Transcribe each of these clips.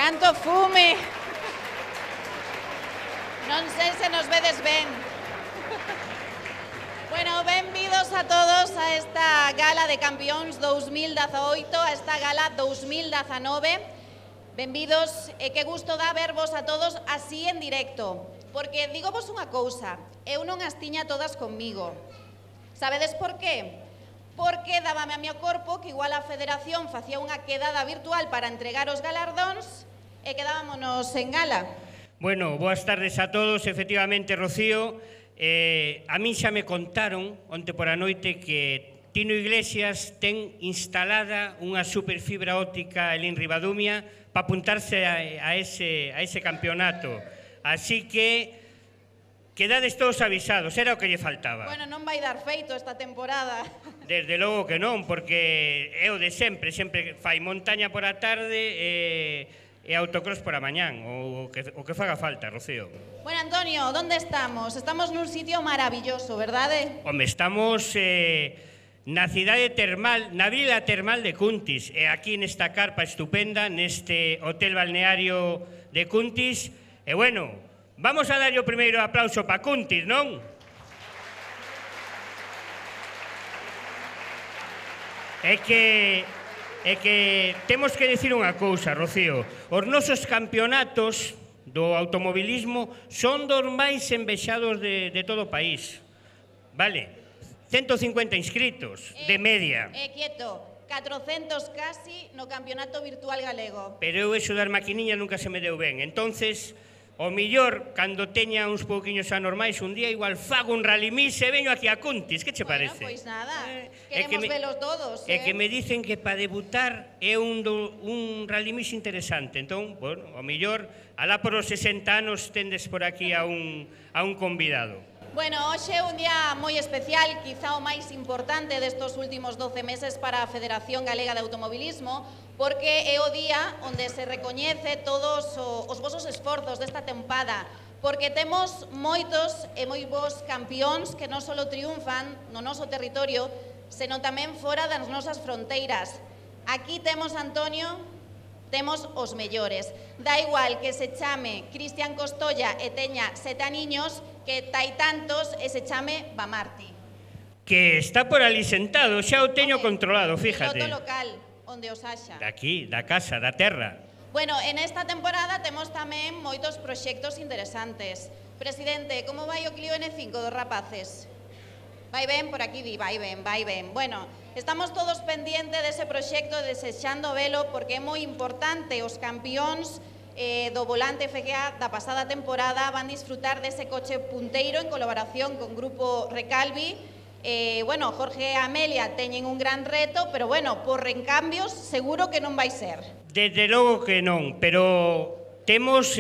Canto fume. Non sei se nos vedes ben. Bueno, benvidos a todos a esta Gala de Campións 2018, a esta Gala 2019. Benvidos, e que gusto dá vervos a todos así en directo. Porque digo vos unha cousa, eu non as tiña todas conmigo. Sabedes por qué? Porque dábame a meu corpo que igual a Federación facía unha quedada virtual para entregar os galardóns e quedámonos en gala. Bueno, boas tardes a todos. Efectivamente, Rocío, a mí xa me contaron onte por a noite que Tino Iglesias ten instalada unha superfibra óptica en Ribadumia para apuntarse a ese campeonato. Así que quedades todos avisados, era o que lle faltaba. Bueno, non vai dar feito esta temporada. Desde logo que non, porque é o de sempre fai montaña por a tarde e autocross por a mañán, o que faga falta, Rocío. Bueno, Antonio, ¿dónde estamos? Estamos nun sitio maravilloso, verdade? Home, estamos na cidade termal, na vila termal de Cuntis, e aquí nesta carpa estupenda, neste hotel balneario de Cuntis, e bueno, vamos a darlle o primeiro aplauso para Cuntis, non? É que temos que dicir unha cousa, Rocío. Os nosos campeonatos do automobilismo son dos máis envexados de todo o país. Vale, 150 inscritos de media. Quieto, 400 casi no campeonato virtual galego. Pero eu eso das maquiniñas nunca se me deu ben. Entonces, o millor, cando teña uns pouquiños anormais, un día igual fago un rally mix e veño aquí a Cuntis, que che parece? Bueno, pois nada, queremos velos todos. É que me dicen que para debutar é un rally mix interesante. Entón, bueno, o millor, alá por os 60 anos tendes por aquí a un convidado. Bueno, hoxe é un día moi especial, quizá o máis importante destos últimos 12 meses para a Federación Galega de Automobilismo, porque é o día onde se recoñece todos os vosos esforzos desta tempada, porque temos moitos e moi bons campións que non só triunfan no noso territorio, senón tamén fora das nosas fronteiras. Aquí temos, Antonio, temos os mellores. Da igual que se chame Cristian Costolla e teña 7 aniños, que tai tantos e se chame Bamarti. Que está por ali sentado, xa o teño controlado, fíjate. Piloto local, onde os haxa. Daqui, da casa, da terra. Bueno, en esta temporada temos tamén moitos proxectos interesantes. Presidente, como vai o Clio N5 dos rapaces? Vai ben, por aquí di, vai ben, vai ben. Bueno, estamos todos pendientes dese proxecto, desexando velo, porque é moi importante os campións do volante FGA da pasada temporada van disfrutar dese coche punteiro en colaboración con Grupo Recalvi. Bueno, Jorge e Amelia teñen un gran reto, pero bueno, por recambios seguro que non vai ser. Desde logo que non, pero temos,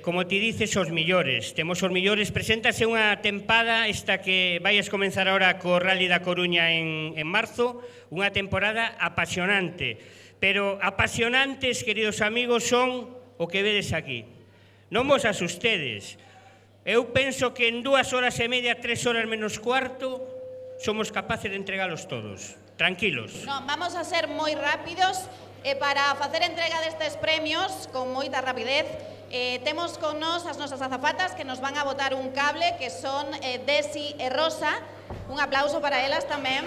como ti dices, os millores. Temos os millores. Preséntase unha tempada, esta que vais comenzar agora co Rally da Coruña en marzo, unha temporada apasionante. Pero apasionantes, queridos amigos, son o que vedes aquí. Non vos asustedes. Eu penso que en 2 horas e media, 3 horas menos cuarto, somos capaces de entregalos todos. Tranquilos. Non, vamos a ser moi rápidos e para facer entrega destes premios con moita rapidez temos con nós as nosas azafatas que nos van a botar un cable, que son Desi e Rosa. Un aplauso para elas tamén.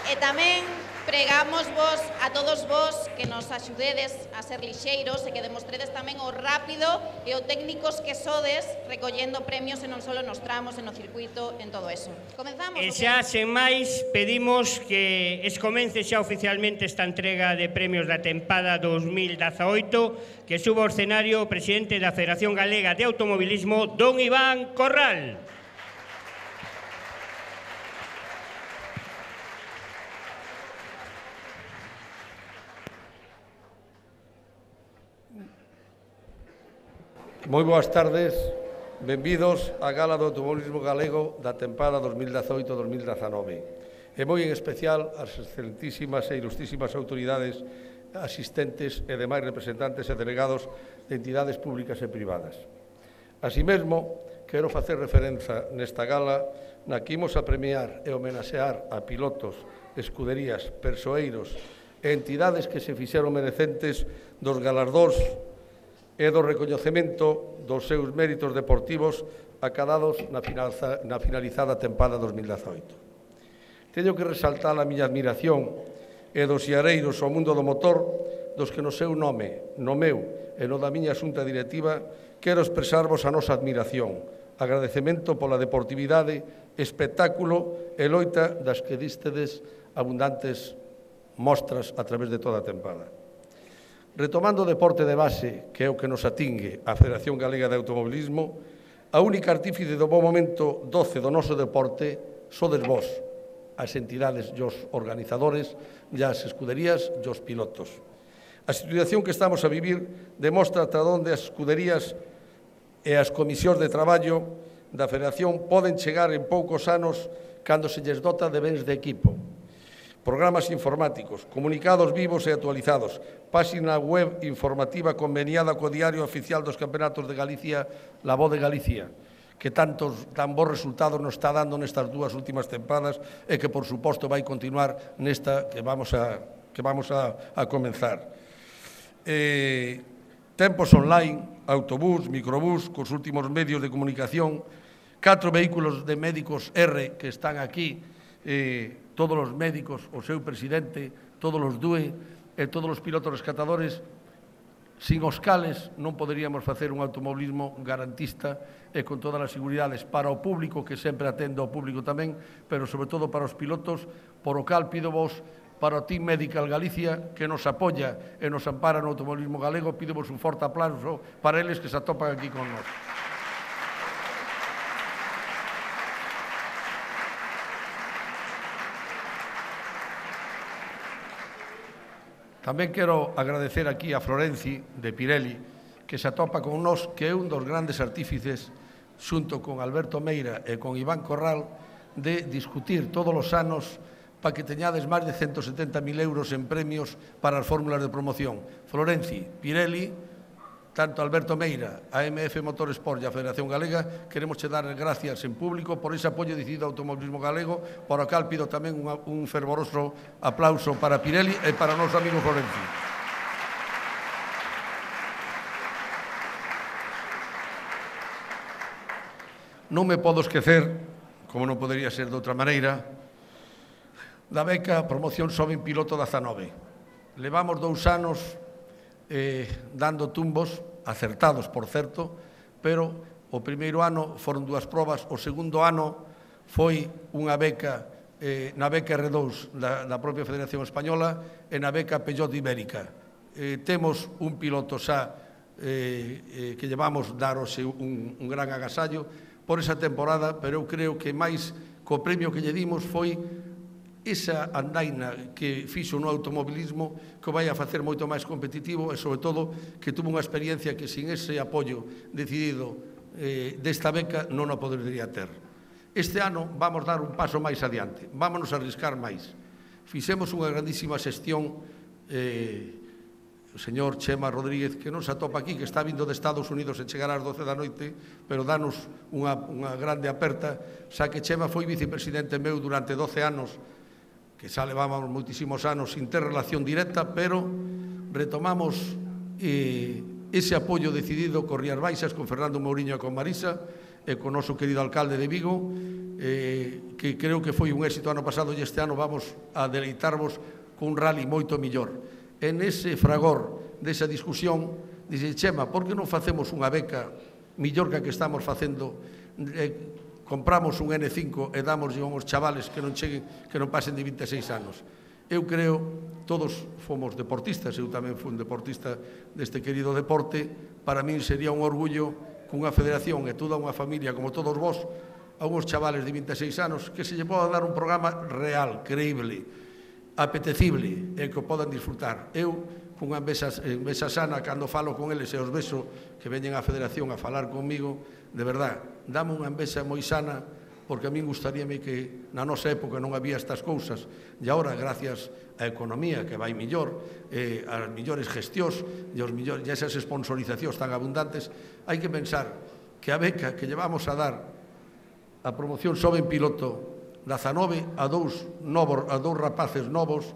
E tamén pregamos vos a todos vos que nos axudedes a ser lixeiros e que demostredes tamén o rápido e o técnicos que sodes recollendo premios e non só nos tramos, en o circuito, en todo eso. Comenzamos? E xa, sen máis, pedimos que comence xa oficialmente esta entrega de premios da tempada 2018, que suba ao escenario o presidente da Federación Galega de Automobilismo, don Iván Corral. Moi boas tardes, benvidos á Gala do Automobilismo Galego da tempada 2018-2019. E moi en especial as excelentísimas e ilustrísimas autoridades asistentes e demais representantes e delegados de entidades públicas e privadas. Así mesmo, quero facer referencia nesta gala na que imos a premiar e homenaxear a pilotos, escuderías, persoeiros e entidades que se fixeron merecentes dos galardóns e do recoñecemento dos seus méritos deportivos acadados na finalizada tempada 2018. Teño que resaltar a miña admiración e dos xareiros ao mundo do motor, dos que no seu nome, no meu e no da miña xunta directiva, quero expresarvos a nosa admiración, agradecemento pola deportividade, espectáculo e loita das que distedes abundantes mostras a través de toda a tempada. Retomando o deporte de base, que é o que nos atingue a Federación Galega de Automobilismo, a única artífice do bo momento 12 do noso deporte sodes vós, as entidades e os organizadores, e as escuderías e os pilotos. A situación que estamos a vivir demostra ata onde as escuderías e as comisións de traballo da Federación poden chegar en poucos anos cando se lles dota de bens de equipo. Programas informáticos, comunicados vivos e actualizados, páxina web informativa conveniada co Diario Oficial dos Campeonatos de Galicia, La Voz de Galicia, que tan bons resultados nos está dando nestas dúas últimas tempadas e que, por suposto, vai continuar nesta que vamos a comenzar. Tempos online, autobús, microbús, cos últimos medios de comunicación, 4 vehículos de médicos R que están aquí, todos os médicos, o seu presidente, todos os DUE e todos os pilotos rescatadores, sin os cales non poderíamos facer un automobilismo garantista e con todas as seguridades para o público, que sempre atende ao público tamén, pero sobre todo para os pilotos, por o cal pido vos, para o Team Medical Galicia, que nos apoia e nos ampara no automobilismo galego, pido vos un forte aplauso para eles que se atopan aquí con nós. Tamén quero agradecer aquí a Florenci de Pirelli, que se atopa con nós, que é un dos grandes artífices, xunto con Alberto Meira e con Iván Corral, de discutir todos os anos para que teñades máis de 170.000 euros en premios para as fórmulas de promoción. Florenci, Pirelli, tanto Alberto Meira, a MF Motorsport e a Federación Galega, queremos che dar gracias en público por ese apoio decidido ao automobilismo galego, por o cal pido tamén un fervoroso aplauso para Pirelli e para o noso amigo Florenci. Non me podo esquecer, como non podería ser de outra maneira, da beca Promoción Xoven Piloto 19. Levamos 2 anos dando tumbos, acertados, por certo, pero o primeiro ano foron 2 probas, o segundo ano foi unha beca na beca R2 da propia Federación Española e na beca Peugeot Ibérica. Temos un piloto xa que llevamos darose un gran agasallo por esa temporada, pero eu creo que máis co premio que lle dimos foi esa andaina que fixo no automobilismo que vai a facer moito máis competitivo e, sobre todo, que tuvo unha experiencia que sin ese apoio decidido desta beca non a podería ter. Este ano vamos dar un paso máis adiante, vámonos a arriscar máis. Fixemos unha grandísima xestión, o señor Chema Rodríguez, que non se atopa aquí, que está vindo de Estados Unidos e chegará ás 12 da noite, pero danos unha grande aperta, xa que Chema foi vicepresidente meu durante 12 anos, que xa levábamos moitísimos anos sin ter relación directa, pero retomamos ese apoio decidido con Rías Baixas, con Fernando Mouriño e con Marisa, e con o noso querido alcalde de Vigo, que creo que foi un éxito ano pasado e este ano vamos a deleitarvos con un rally moito millor. En ese fragor desa discusión, dixe, Chema, por que non facemos unha beca millor que a que estamos facendo, compramos un N5 e damoslle aos chavales que non cheguen, que non pasen de 26 anos. Eu creo, todos fomos deportistas, eu tamén fui un deportista deste querido deporte, para min sería un orgullo que unha federación e toda unha familia como todos vos, a unhos chavales de 26 anos, que se lle poda dar un programa real, creíble, apetecible e que o podan disfrutar. Eu, cunha envexa sana, cando falo con eles e os vexo que veñen á federación a falar comigo, de verdad, dame unha envexa moi sana, porque a min gustaríame que na nosa época non había estas cousas, e agora, gracias á economía que vai millor, as millores gestións e esas sponsorizacións tan abundantes, hai que pensar que a beca que llevamos a dar a promoción sobe en piloto 19 a dous rapaces novos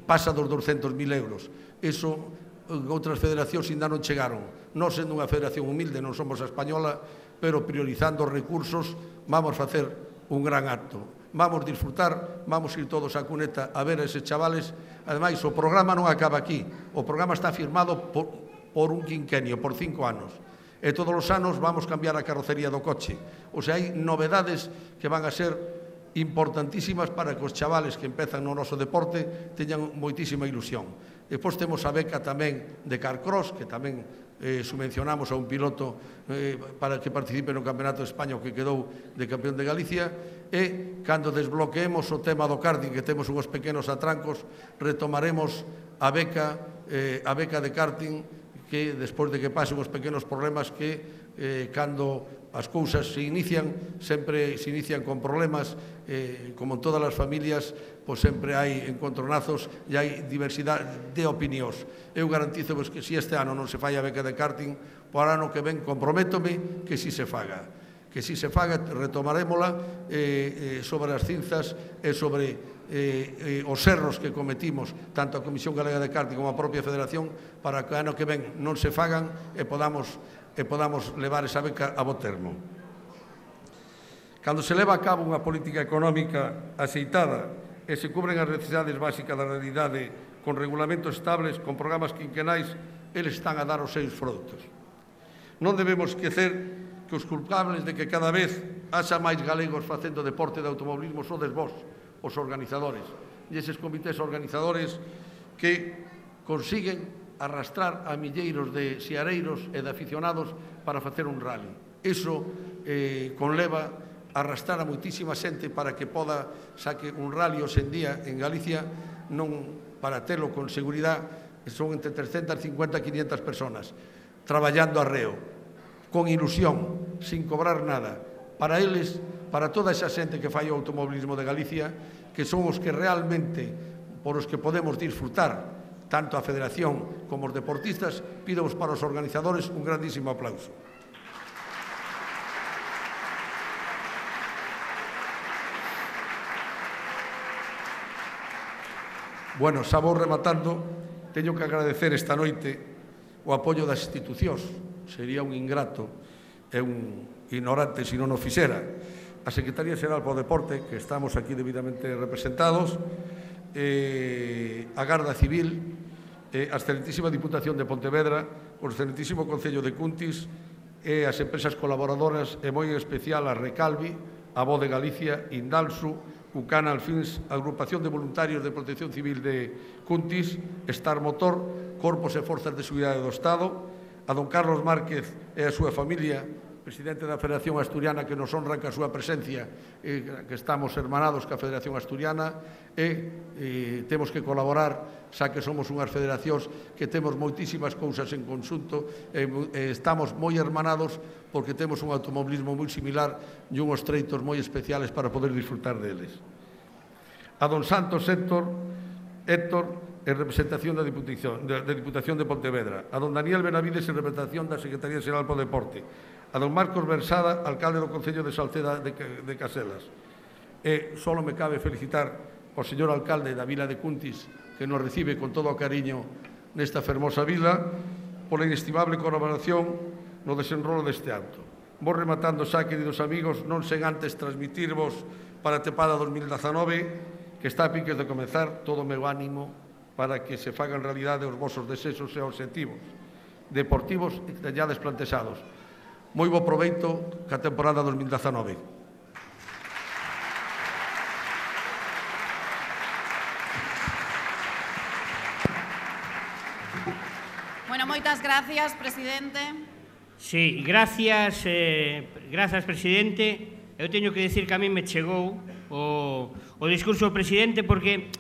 pasa dos 200.000 euros. Iso outras federacións ainda non chegaron. Nós, sendo unha federación humilde, non somos a española, pero priorizando os recursos, vamos facer un gran acto. Vamos disfrutar, vamos ir todos á cuneta a ver a eses chavales. Ademais, o programa non acaba aquí. O programa está firmado por un quinquenio, por 5 anos. E todos os anos vamos cambiar a carrocería do coche. O sea, hai novedades que van a ser importantísimas para que os chavales que empezan no noso deporte teñan moitísima ilusión. Depois temos a beca tamén de Carcross, que tamén subvencionamos a un piloto para que participe no Campeonato de España, que quedou de campeón de Galicia, e cando desbloqueemos o tema do karting, que temos uns pequenos atrancos, retomaremos a beca de karting, que despois de que pasen os pequenos problemas que cando as cousas se inician, sempre se inician con problemas, como en todas as familias, pois sempre hai encontronazos e hai diversidade de opinións. Eu garantizo que se este ano non se fai a beca de karting, por ano que ven comprométome que si se faga. Que si se faga, retomarémola sobre as cinzas e sobre os erros que cometimos tanto a Comisión Galega de Karting como a propia Federación, para que o ano que ven non se fagan e podamos levar esa beca a bo termo. Cando se leva a cabo unha política económica aceitada e se cubren as necesidades básicas da realidade con regulamentos estables, con programas quinquenais, eles están a dar os seus froitos. Non debemos esquecer que os culpables de que cada vez haxa máis galegos facendo deporte de automobilismo sodes vós, os organizadores, e eses comités organizadores que consiguen arrastrar a milleiros de xiareiros e de aficionados para facer un rally. Iso conleva arrastrar a moitísima xente para que poda saque un rally hoxe en día en Galicia, non para telo con seguridade, son entre 350 e 500 personas traballando arreo, con ilusión, sin cobrar nada, para eles, para toda esa xente que fai o automobilismo de Galicia, que son os que realmente, por os que podemos disfrutar, tanto a Federación como os deportistas. Pidemos para os organizadores un grandísimo aplauso. Bueno, xa vou rematando. Teño que agradecer esta noite o apoio das institucións. Sería un ingrato e un ignorante se non o fixera. A Secretaría Xeral para o Deporte, que estamos aquí debidamente representados, a Garda Civil, a excelentísima Diputación de Pontevedra, o excelentísimo Concello de Cuntis e as empresas colaboradoras, e moi en especial a Recalvi, a Voz de Galicia, Indalsu, Ucana Alfins, Agrupación de Voluntarios de Protección Civil de Cuntis, Star Motor, Corpos e Forzas de Seguridade do Estado, a don Carlos Márquez e a súa familia, presidente da Federación Asturiana, que nos honra ca súa presencia, que estamos hermanados ca Federación Asturiana, e temos que colaborar, xa que somos unhas federacións que temos moitísimas cousas en conxunto, e estamos moi hermanados porque temos un automobilismo moi similar e unhos treitos moi especiales para poder disfrutar deles. A don Santos Héctor, en representación da Diputación de Pontevedra, a don Daniel Benavides en representación da Secretaría Xeral para o Deporte, a don Marcos Versada, alcalde do Concello de Salceda de Caselas. E só me cabe felicitar ao señor alcalde da vila de Cuntis, que nos recibe con todo o cariño nesta fermosa vila, pola inestimable colaboración no desenrolo deste acto. Vou rematando xa, queridos amigos, non sen antes transmitirvos para a tempada 2019, que está a piques de comezar, todo o meu ánimo para que se fagan realidade os vosos desexos e obxectivos deportivos e que teñades plantexados. Moi bo proveito ca temporada 2019. Bueno, moitas gracias, presidente. Sí, gracias, presidente. Eu teño que decir que a mí me chegou o discurso do presidente, porque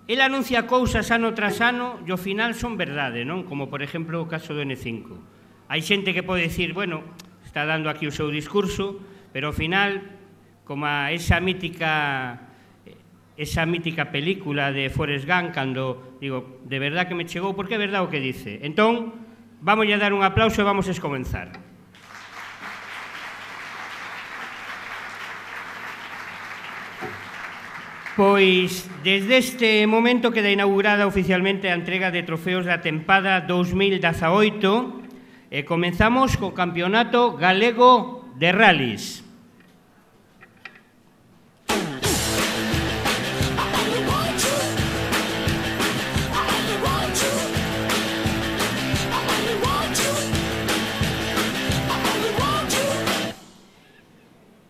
el anuncia cousas ano tras ano e ao final son verdade, non? Como, por exemplo, o caso do N5. Hai xente que pode dicir, bueno, está dando aquí o seu discurso, pero ao final, como esa mítica película de Forrest Gump, cando digo, de verdad que me chegou, porque é verdade o que dice. Entón, vamos a dar un aplauso e vamos a comenzar. Pois, desde este momento queda inaugurada oficialmente a entrega de trofeos da tempada 2018 e comenzamos co Campeonato Galego de Rallys.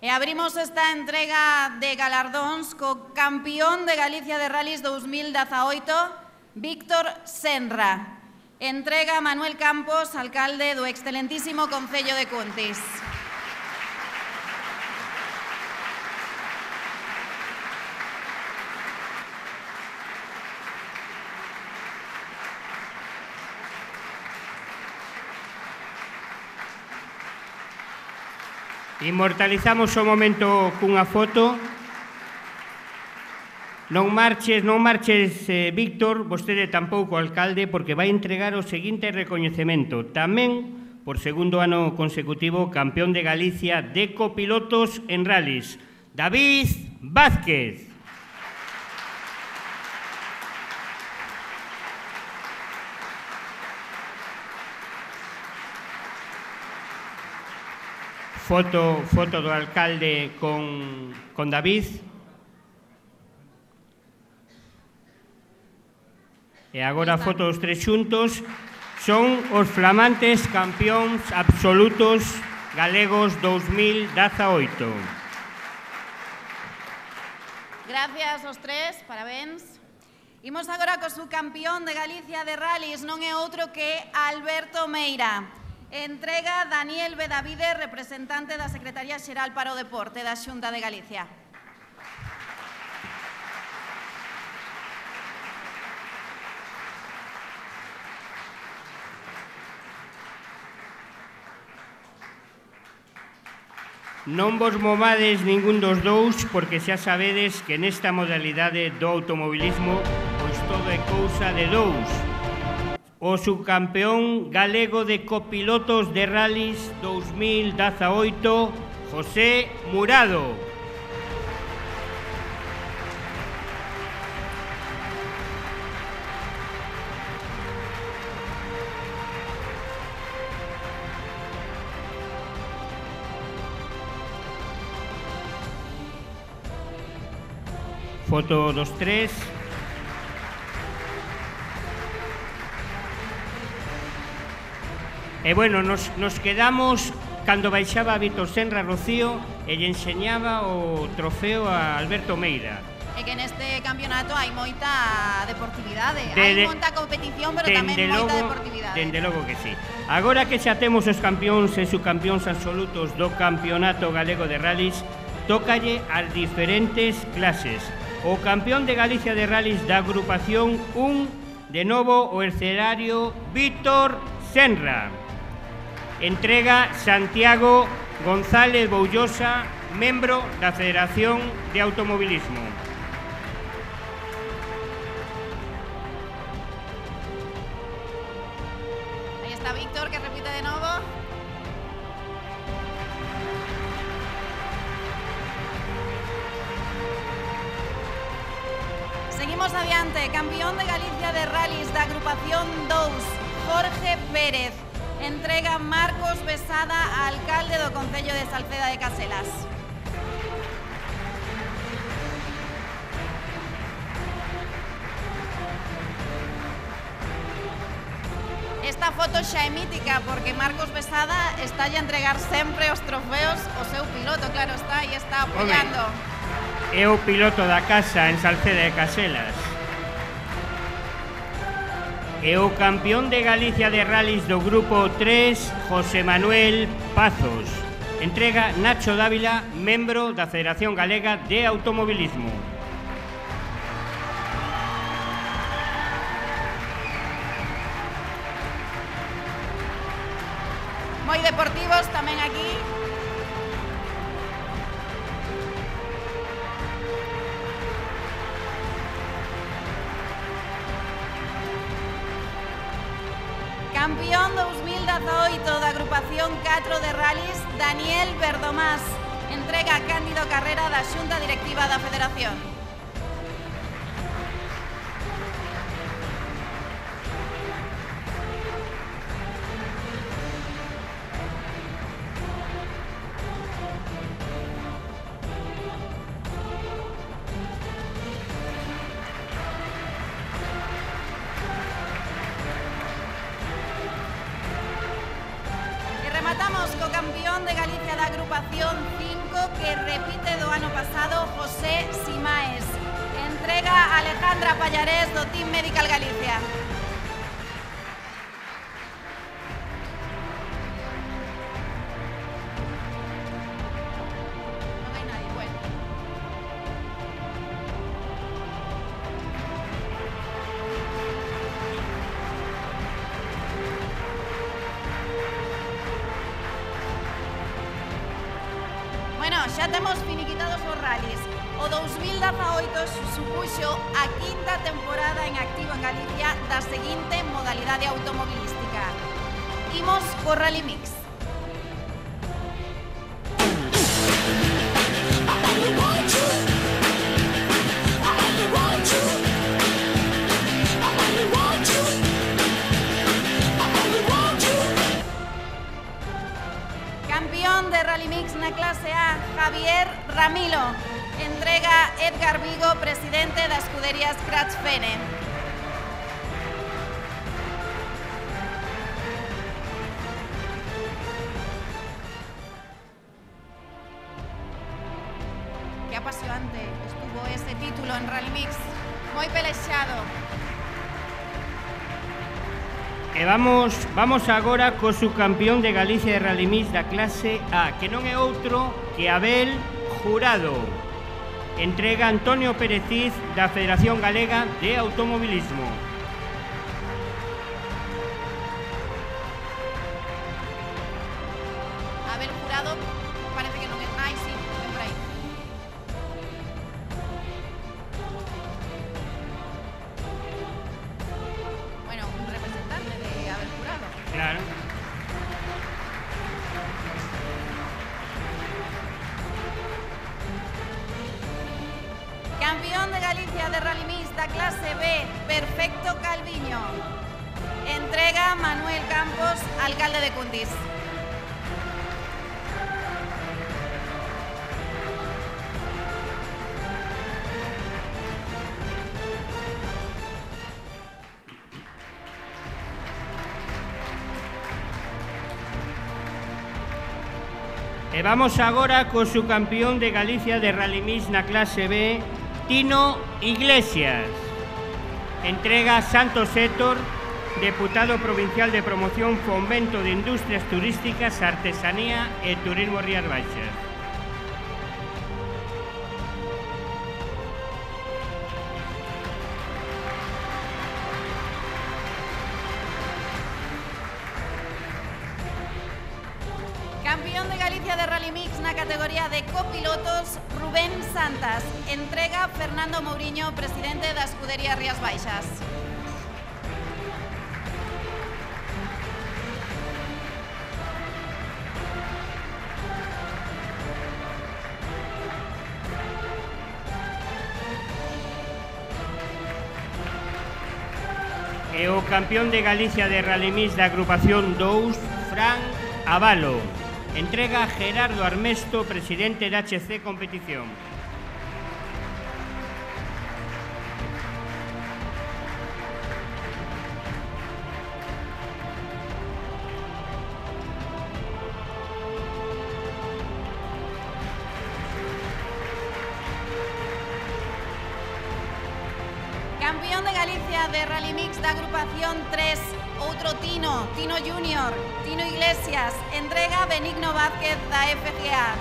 E abrimos esta entrega de galardóns co campeón de Galicia de Rallys 2018, Víctor Senra. Entrega Manuel Campos, alcalde do excelentísimo Concello de Cuntis. Inmortalizamos o momento cunha foto. Non marches, Víctor, vostede tampouco, alcalde, porque vai entregar o seguinte recoñecemento. Tamén, por segundo ano consecutivo, campeón de Galicia de copilotos en rallies, David Vázquez. Foto do alcalde con David. E agora a foto dos tres xuntos. Son os flamantes campións absolutos galegos 2018. Gracias aos tres, parabéns. Imos agora co subcampeón de Galicia de Rallys, non é outro que Alberto Meira. Entrega Daniel Bedavide, representante da Secretaría Xeral para o Deporte da Xunta de Galicia. Non vos movades ningún dos dous, porque xa sabedes que nesta modalidade do automobilismo pois todo é cousa de dous. O subcampeón galego de copilotos de rallies 2018, José Murado. Foto dos tres. E bueno, nos quedamos cando baixaba Víctor Senra Rocío e lle enseñaba o trofeo a Alberto Meira. E que neste campeonato hai moita deportividade, hai moita competición, pero tamén moita deportividade. Dende logo que sí. Agora que xa temos os campións e subcampións absolutos do Campeonato Galego de Rallys, tócalle as diferentes clases. O campeón de Galicia de Rallys da agrupación 1, de novo o escenario Víctor Senra. Entrega Santiago González Boullosa, membro da Federación de Automobilismo. Aí está Víctor, que repite de novo. Seguimos adiante, campeón de Galicia de Rallys da agrupación 2, Jorge Pérez. Entrega Marcos Besada, alcalde do Concello de Salceda de Caselas. Esta foto xa é mítica porque Marcos Besada está a entregar sempre os trofeos ao seu piloto, claro está, e está apoiando. É o piloto da casa en Salceda de Caselas. E o campeón de Galicia de Rallys do Grupo 3, José Manuel Pazos. Entrega Nacho Dávila, membro da Federación Galega de Automobilismo. Moi deportivos tamén aquí. Campeón 2018 da agrupación 4 de Rallys, Daniel Verdomás. Entrega Cándido Carrera da Xunta Directiva da Federación. campeón de Galicia da agrupación 5 que repite do ano pasado, José Simaes. Entrega Alejandra Pallarés do Team Medical Galicia. Non hai nadie, bueno. Bueno, xa temos finiquitados os rallies. O 2018 supuxo a quinta temporada en activo en Galicia da seguinte modalidade automobilística. Imos co Rally Mix. Campeón de Rally Mix na clase A, Javier Ramilo. Entrega Edgar Vigo, presidente da escudería Scratch Fene. Que apasionante estuvo ese título en Rally Mix, moi pelexado. E vamos agora co subcampeón de Galicia de Rally Mix da clase A, que non é outro que Abel Jurado. Entrega Antonio Pérez da Federación Galega de Automobilismo. Abel Jurado, parece que non é... Ai, sí, ven por aí. Bueno, un representante de Abel Jurado. Claro. Campeón de Galicia de Rally Mix da clase B, Perfecto Calviño. Entrega Manuel Campos, alcalde de Cuntis. E vamos agora co subcampeón de Galicia de Rally Mix na clase B, Tino Iglesias. Entrega Santos Héctor, deputado provincial de promoción, fomento de industrias turísticas, artesanía e turismo Rías Baixas. Campeón de Galicia de Rally Mix na categoría de copilotos, Rubén Santas. Entrega Fernando Mouriño, presidente da escudería Rías Baixas. E o campeón de Galicia de Rally Mix da agrupación 2, Fran Avalo. Entrega Gerardo Armesto, presidente da HC Competición. Campeón de Galicia de Rally Mix da agrupación 3, outro Tino, Tino Junior, Tino Iglesias. Entrega Benigno Vázquez da FGA.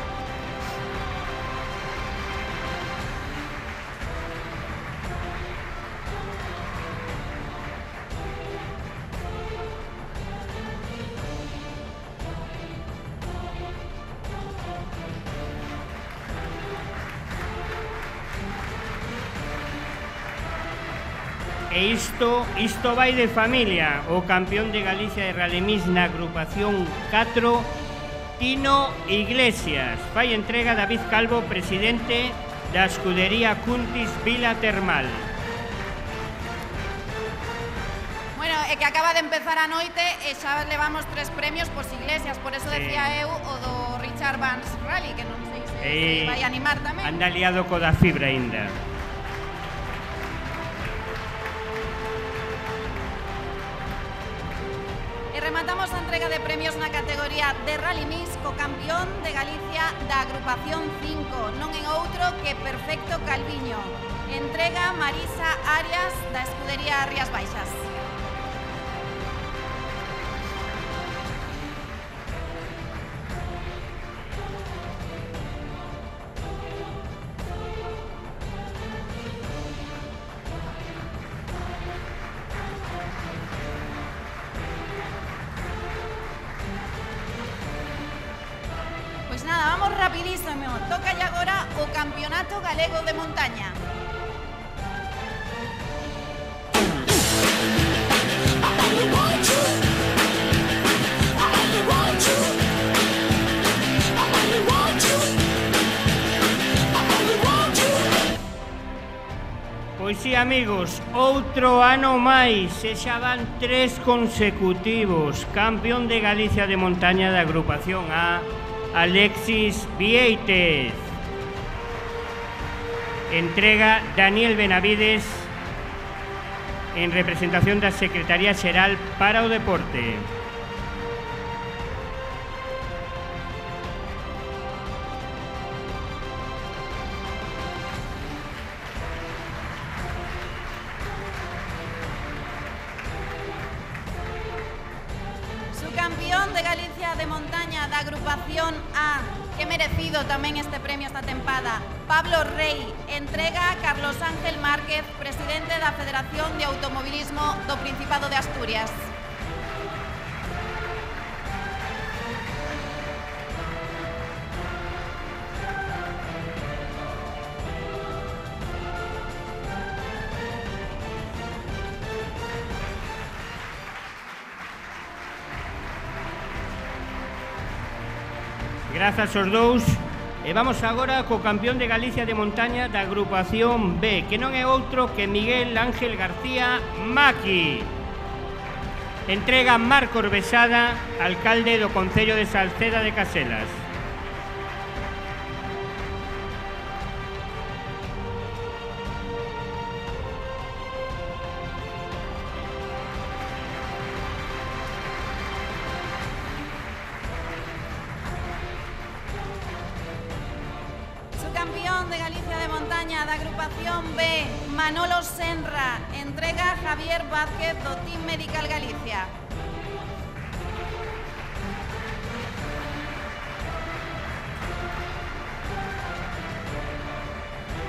E isto vai de familia. O campeón de Galicia de Rally Mix na agrupación 4, Tino Iglesias. Fai entrega David Calvo, presidente da escudería Cuntis Vila Termal. Bueno, é que acaba de empezar a noite e xa levamos 3 premios pos Iglesias, por eso decía eu o do Richard Vance Rally, que non sei se vai animar tamén. Anda liado co da fibra ainda. Rematamos a entrega de premios na categoría de Rally Mix co campeón de Galicia da agrupación 5, non en outro que Perfecto Calviño. Entrega Marisa Arias da escudería Rías Baixas. Pois nada, vamos rapidísimo. Toca agora o Campeonato Galego de Montaña. Pois sí, amigos, outro ano máis, e xa van 3 consecutivos. Campeón de Galicia de Montaña da agrupación A, Alexis Vieites. Entrega Daniel Benavides en representación da Secretaría Xeral para o Deporte. Campeón de Galicia de Montaña da agrupación A, que merecido tamén este premio esta tempada, Pablo Rey. Entrega Carlos Ángel Márquez, presidente da Federación de Automovilismo do Principado de Asturias. Grazas aos dous. E vamos agora co campeón de Galicia de Montaña da agrupación B, que non é outro que Miguel Ángel García Maqui. Entrega Marcos Besada, alcalde do Concello de Salceda de Caselas. Campeón de Galicia de Montaña da agrupación B, Manolo Senra. Entrega Javier Vázquez do Team Medical Galicia.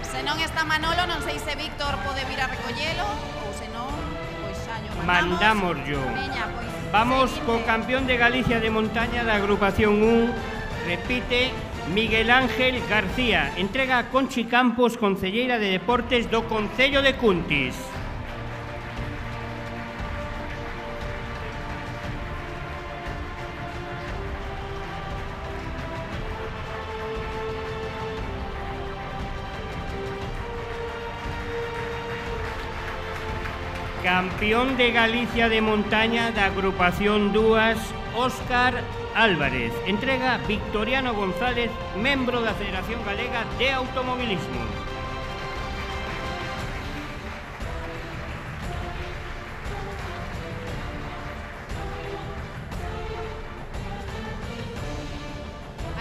Se non está Manolo, non sei se Víctor pode vir a recollelo ou se non, pois xa yo mandamos yo. Veña, pois, vamos seguinte. co campeón de Galicia de Montaña da agrupación 1, repite Miguel Ángel García. Entrega Conchi Campos, concelleira de Deportes do Concello de Cuntis. Campeón de Galicia de Montaña da agrupación 2, Óscar Álvarez. Entrega Victoriano González, membro da Federación Galega de Automovilismo.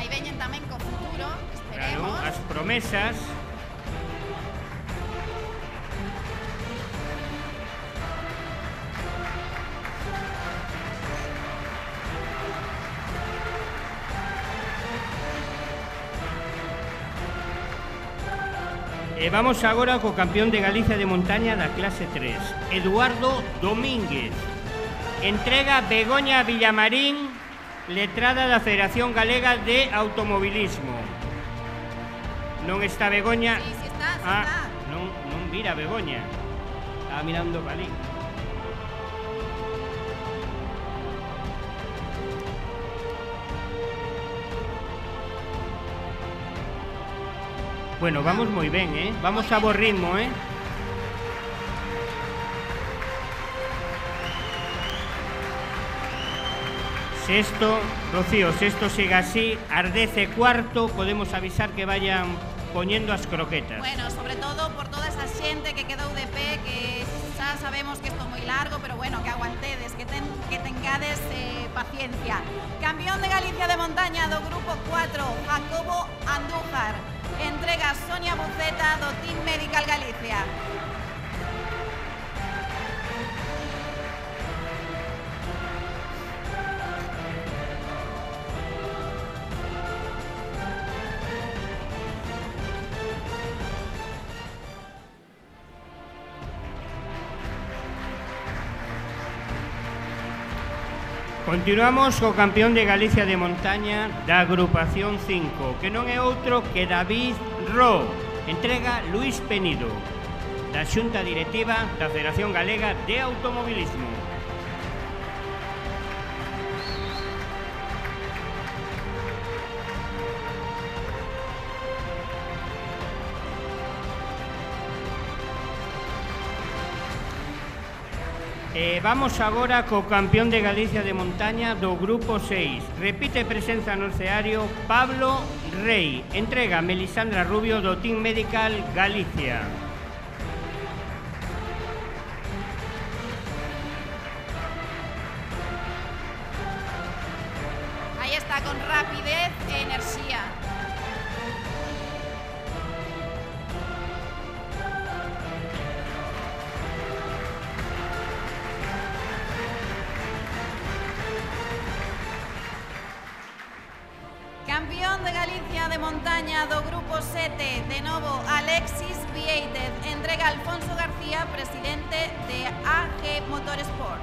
Aí veñen tamén co futuro, esperemos. Claro, as promesas. E vamos agora co campeón de Galicia de Montaña da clase 3, Eduardo Domínguez. Entrega Begoña Villamarín, letrada da Federación Galega de Automovilismo. Non está Begoña? Sí, sí está, sí está. está. Non mira Begoña. Estaba mirando Galí. Bueno, vamos moi ben, Vamos a bo ritmo, Sexto, Rocío, sexto siga así, ás 10:15 podemos avisar que vayan poñendo as croquetas. Bueno, sobre todo por toda esa xente que quedou de pé, que xa sabemos que isto é moi largo, pero bueno, que aguantedes, que tengades paciencia. Campeón de Galicia de montaña do grupo 4, Jacobo Andújar. Entrega Sonia Buceta do Team Medical Galicia. Continuamos co campeón de Galicia de montaña da agrupación 5, que non é outro que David Ro. Entrega Luís Penido, da Xunta Directiva da Federación Galega de Automobilismo. Vamos agora co campeón de Galicia de montaña do grupo 6. Repite presenza no escenario Pablo Rey. Entrega Melisandra Rubio do Team Medical Galicia. Aí está, con rapidez e enerxía. Campeón de Galicia de montaña do grupo 7, de novo Alexis Vieites. Entrega Alfonso García, presidente de AG Motorsport.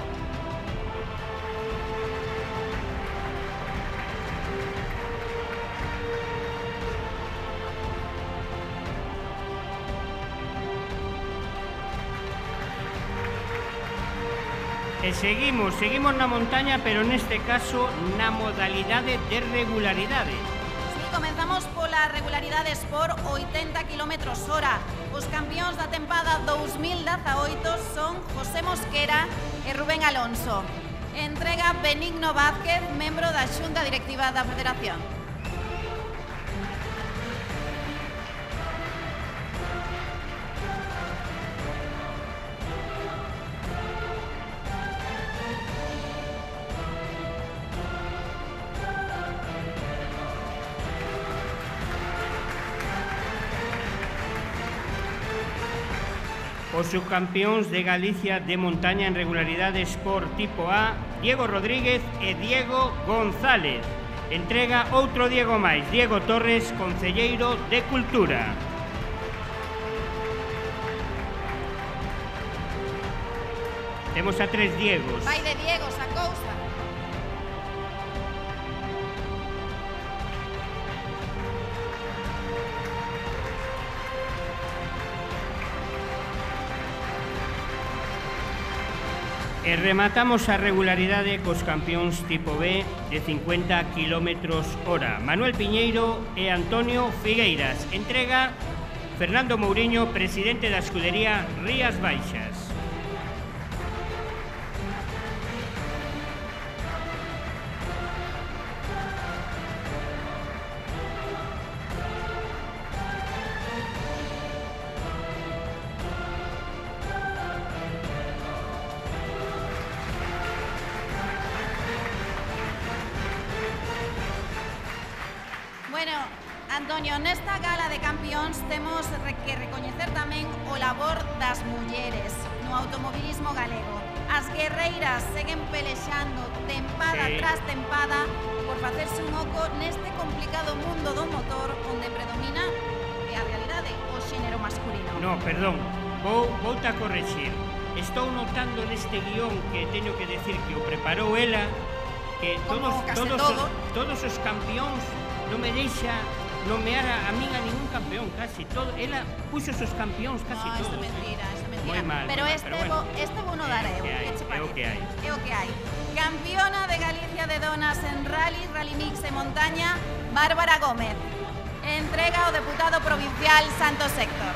E seguimos na montaña, pero neste caso na modalidade de regularidade. Sí, comenzamos pola regularidade por 80 km/h. Os campións da tempada 2018 son José Mosquera e Rubén Alonso. Entrega Benigno Vázquez, membro da Xunta Directiva da Federación. Os subcampións de Galicia de montaña en regularidades por tipo A, Diego Rodríguez e Diego González. Entrega outro Diego máis, Diego Torres, concelleiro de Cultura. Temos a 3 Diegos. Vai de Diegos a cousa. E rematamos a regularidade cos campións tipo B de 50 km/h. Manuel Piñeiro e Antonio Figueiras. Entrega Fernando Mouriño, presidente da escudería Rías Baixas. Bueno, Antonio, nesta gala de campións temos que recoñecer tamén o labor das mulleres no automobilismo galego. As guerreiras seguen pelexando tempada tras tempada por facerse un oco neste complicado mundo do motor onde predomina a realidade o xénero masculino. No, perdón, vou a correxir. Estou notando neste guión que teño que decir que o preparou ela, que todos os campións non me deixa nomear a min a ningún campeón, casi todo. Ela puxo os campións casi todos. No, isto é mentira, Moi mal, pero bueno. este vou no dar eu, que che parece? É o que hai. É o que hai. Campeona de Galicia de donas en rally mix e montaña, Bárbara Gómez. Entrega ao deputado provincial Santos Héctor.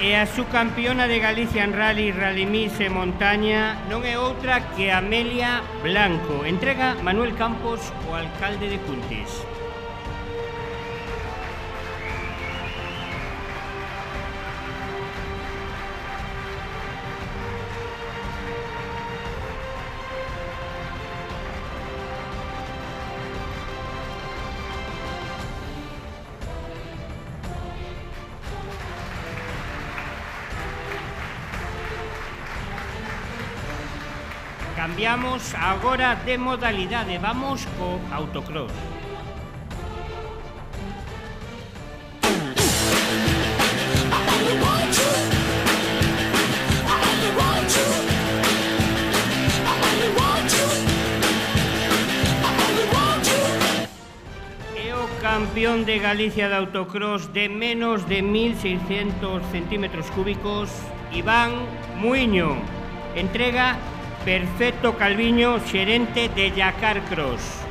E a subcampeona de Galicia en rally, rally mix e montaña non é outra que Amelia Blanco. Entrega Manuel Campos, o alcalde de Cuntis. Cambiamos agora de modalidade, vamos co autocross. É o campeón de Galicia de autocross de menos de 1.600 centímetros cúbicos, Iván Muiño. Entrega Perfecto Calviño, xerente de Yacar Cross.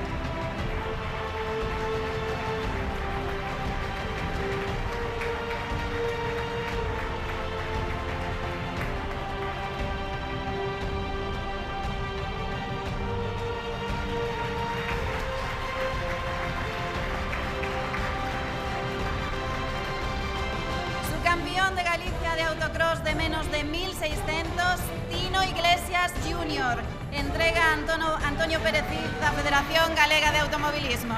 Subcampeón de Galicia de autocross de menos de 1.600, Tino Iglesias Junior. Entrega Antonio Pérez da Federación Galega de Automovilismo.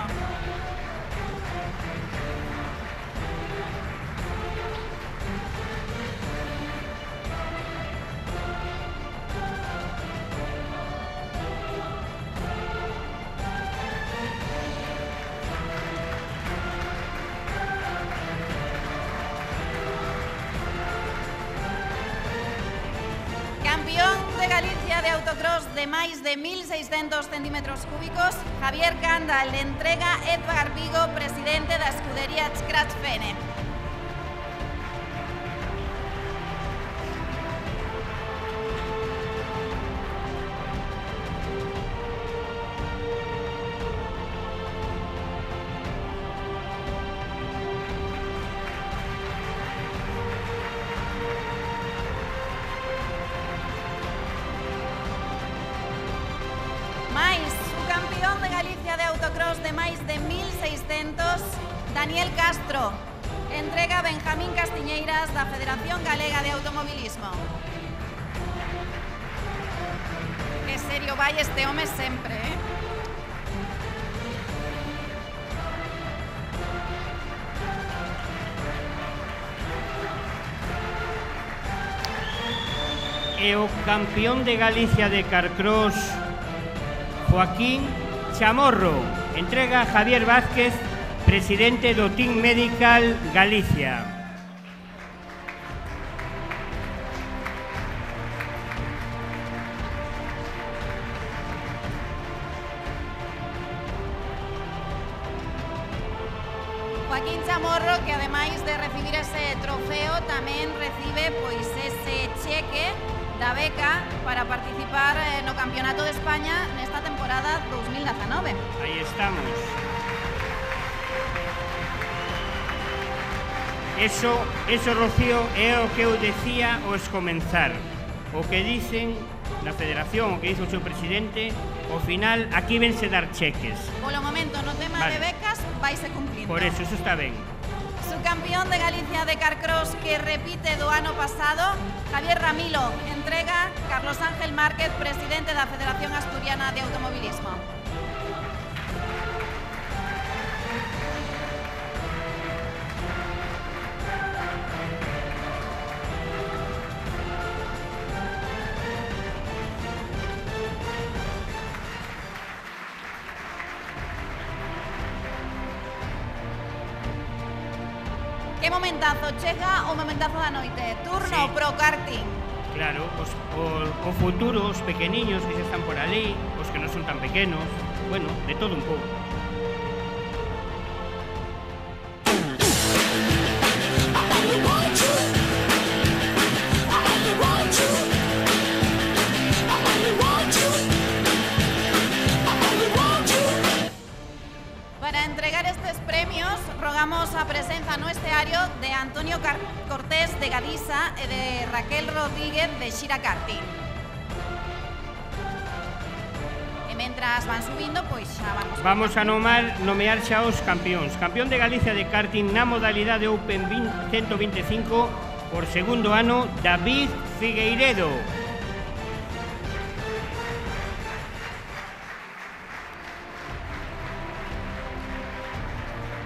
Campeón de Galicia de autocross de máis de 1.600 centímetros cúbicos, Javier Candal. Entrega Edgar Vigo, presidente da escudería Scratch Fene. Mais, subcampeón de Galicia de autocross de máis de 1.600, Daniel Castro. Entrega Benjamín Castiñeiras da Federación Galega de Automovilismo. Que serio vai este home sempre, eh? E o campeón de Galicia de Carcross, Joaquín Chamorro. Entrega Javier Vázquez, presidente do Team Medical Galicia. Joaquín Chamorro, que ademais de recibir ese trofeo tamén recibe pois ese cheque da beca para participar no Campeonato de España nesta temporada 2019. Aí estamos. Eso, Rocío, é o que eu decía ao comenzar. O que dicen na Federación, o que dice o seu presidente, ao final aquí vense dar cheques. Polo momento, no tema de becas, vaise cumplindo. Por eso está ben. Subcampeón de Galicia de Carcross que repite do ano pasado, Javier Ramilo. Entrega Carlos Ángel Márquez, presidente da Federación Asturiana de Automovilismo. Que momentazo, chega o momentazo da noite. Turno Sí. pro karting. Claro, o futuro, os pequeniños que xa están por ali, os que non son tan pequenos, bueno, de todo un pouco. Para entregar estes premios, rogamos a presenza no esteario de Antonio Cortés de Gadisa e de Raquel Rodríguez de Xira Karting. E mentras van subindo, pois xa vamos a nomear xa os campións. Campeón de Galicia de karting na modalidade Open 125 por segundo ano, David Figueiredo.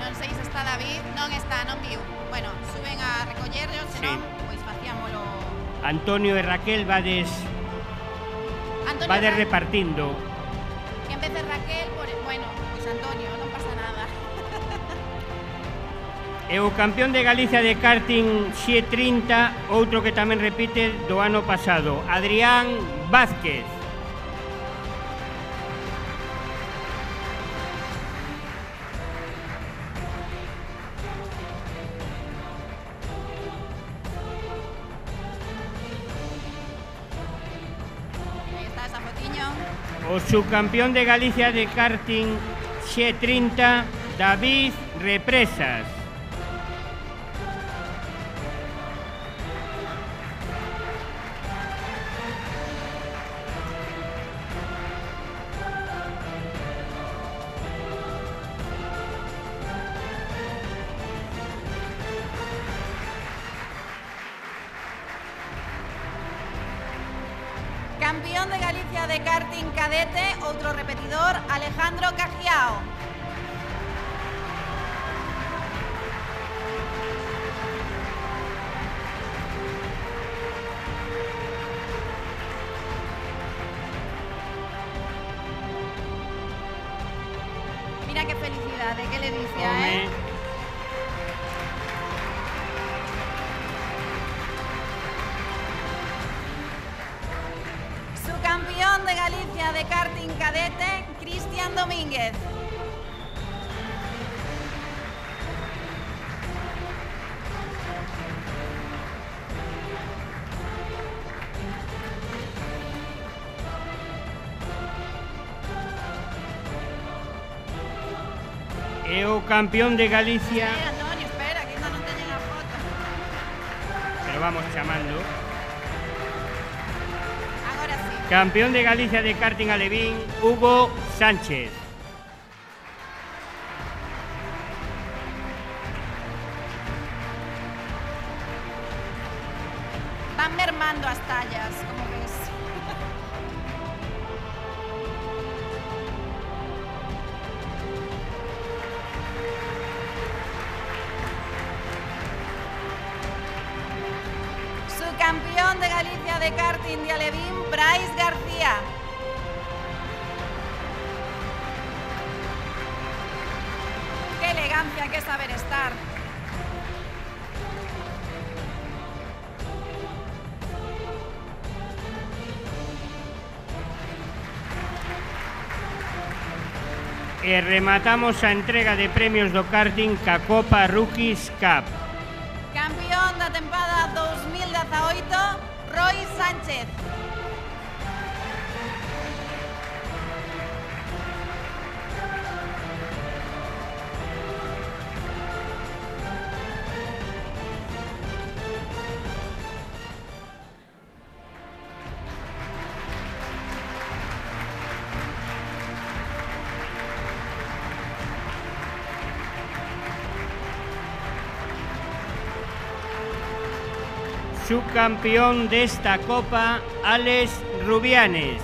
Non sei se está David, non está, non viu. Bueno, suben a recollerlo, senón, pois facíamolo. Antonio e Raquel vades repartindo. Que en vez de Raquel, bueno, pois Antonio, non pasa nada. E o campeón de Galicia de karting X30, outro que tamén repite do ano pasado, Adrián Vázquez. Aí está esa fotiño. O subcampeón de Galicia de karting X30, David Represas. Campeón de Galicia de karting cadete, outro repetidor, Alejandro Cajiao. Mira qué felicidade, qué delicia, Home. Campeón de Galicia de karting cadete, Cristian Domínguez. E o campeón de Galicia... Antonio, espera, que ainda non teñen a foto. Pero vamos chamando. Agora sí. Campeón de Galicia de karting alevín, Hugo Sánchez. Van mermando as tallas, como ves. Subcampeón de Galicia de karting de alevín, Brais García. Qué elegancia, qué saber estar. E rematamos a entrega de premios do karting ca Copa Rookies Cup. Campeón da tempada 2018, Roy Sánchez. Subcampeón desta Copa, Alex Rubianes.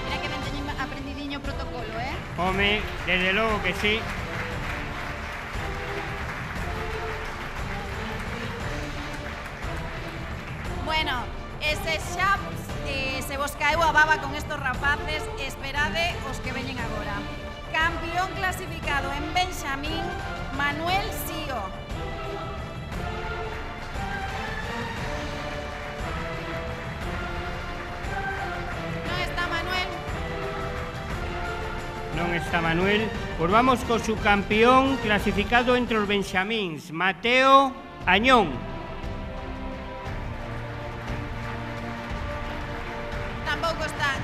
Mira que ben teñen aprendidiño o protocolo, Home, desde logo que sí. Bueno, ese xa se vos caeu a baba con estos rapaces, esperade os que veñen agora. Campeón clasificado en Benxamín, Manuel Sío. Non está Manuel. Non está Manuel. Pois vamos co subcampeón clasificado entre os benxamíns, Mateo Añón.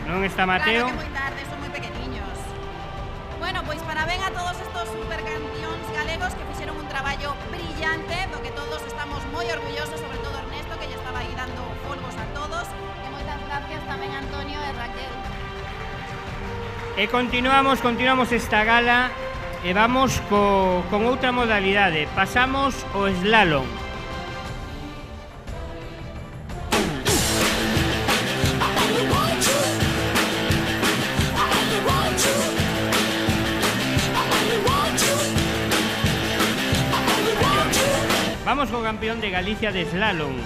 Non está Mateo. Claro que moi tarde, son moi pequeniños. Bueno, pois parabén a todos estos supercampións galegos que fixeron un traballo brillante, do que todos estamos moi orgullosos, sobre todo Ernesto, que lle estaba aí dando folgos a todos, e moitas gracias tamén a Antonio e Raquel. E continuamos esta gala e vamos con outra modalidade. Pasamos o slalom. Vamos co campeón de Galicia de slalom,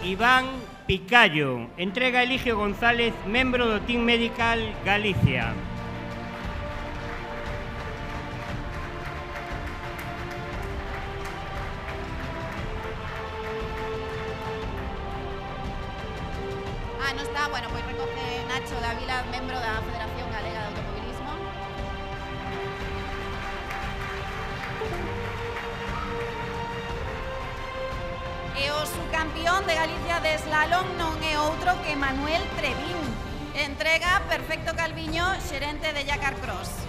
Iván Picallo. Entrega Eligio González, membro do Team Medical Galicia. Non está, bueno, pois recoge Nacho Dávila, membro da Federación Galega de Automobilismo. E o subcampeón de Galicia de slalom non é outro que Manuel Trevín. Entrega Perfecto Calviño, xerente de Yacar Cross.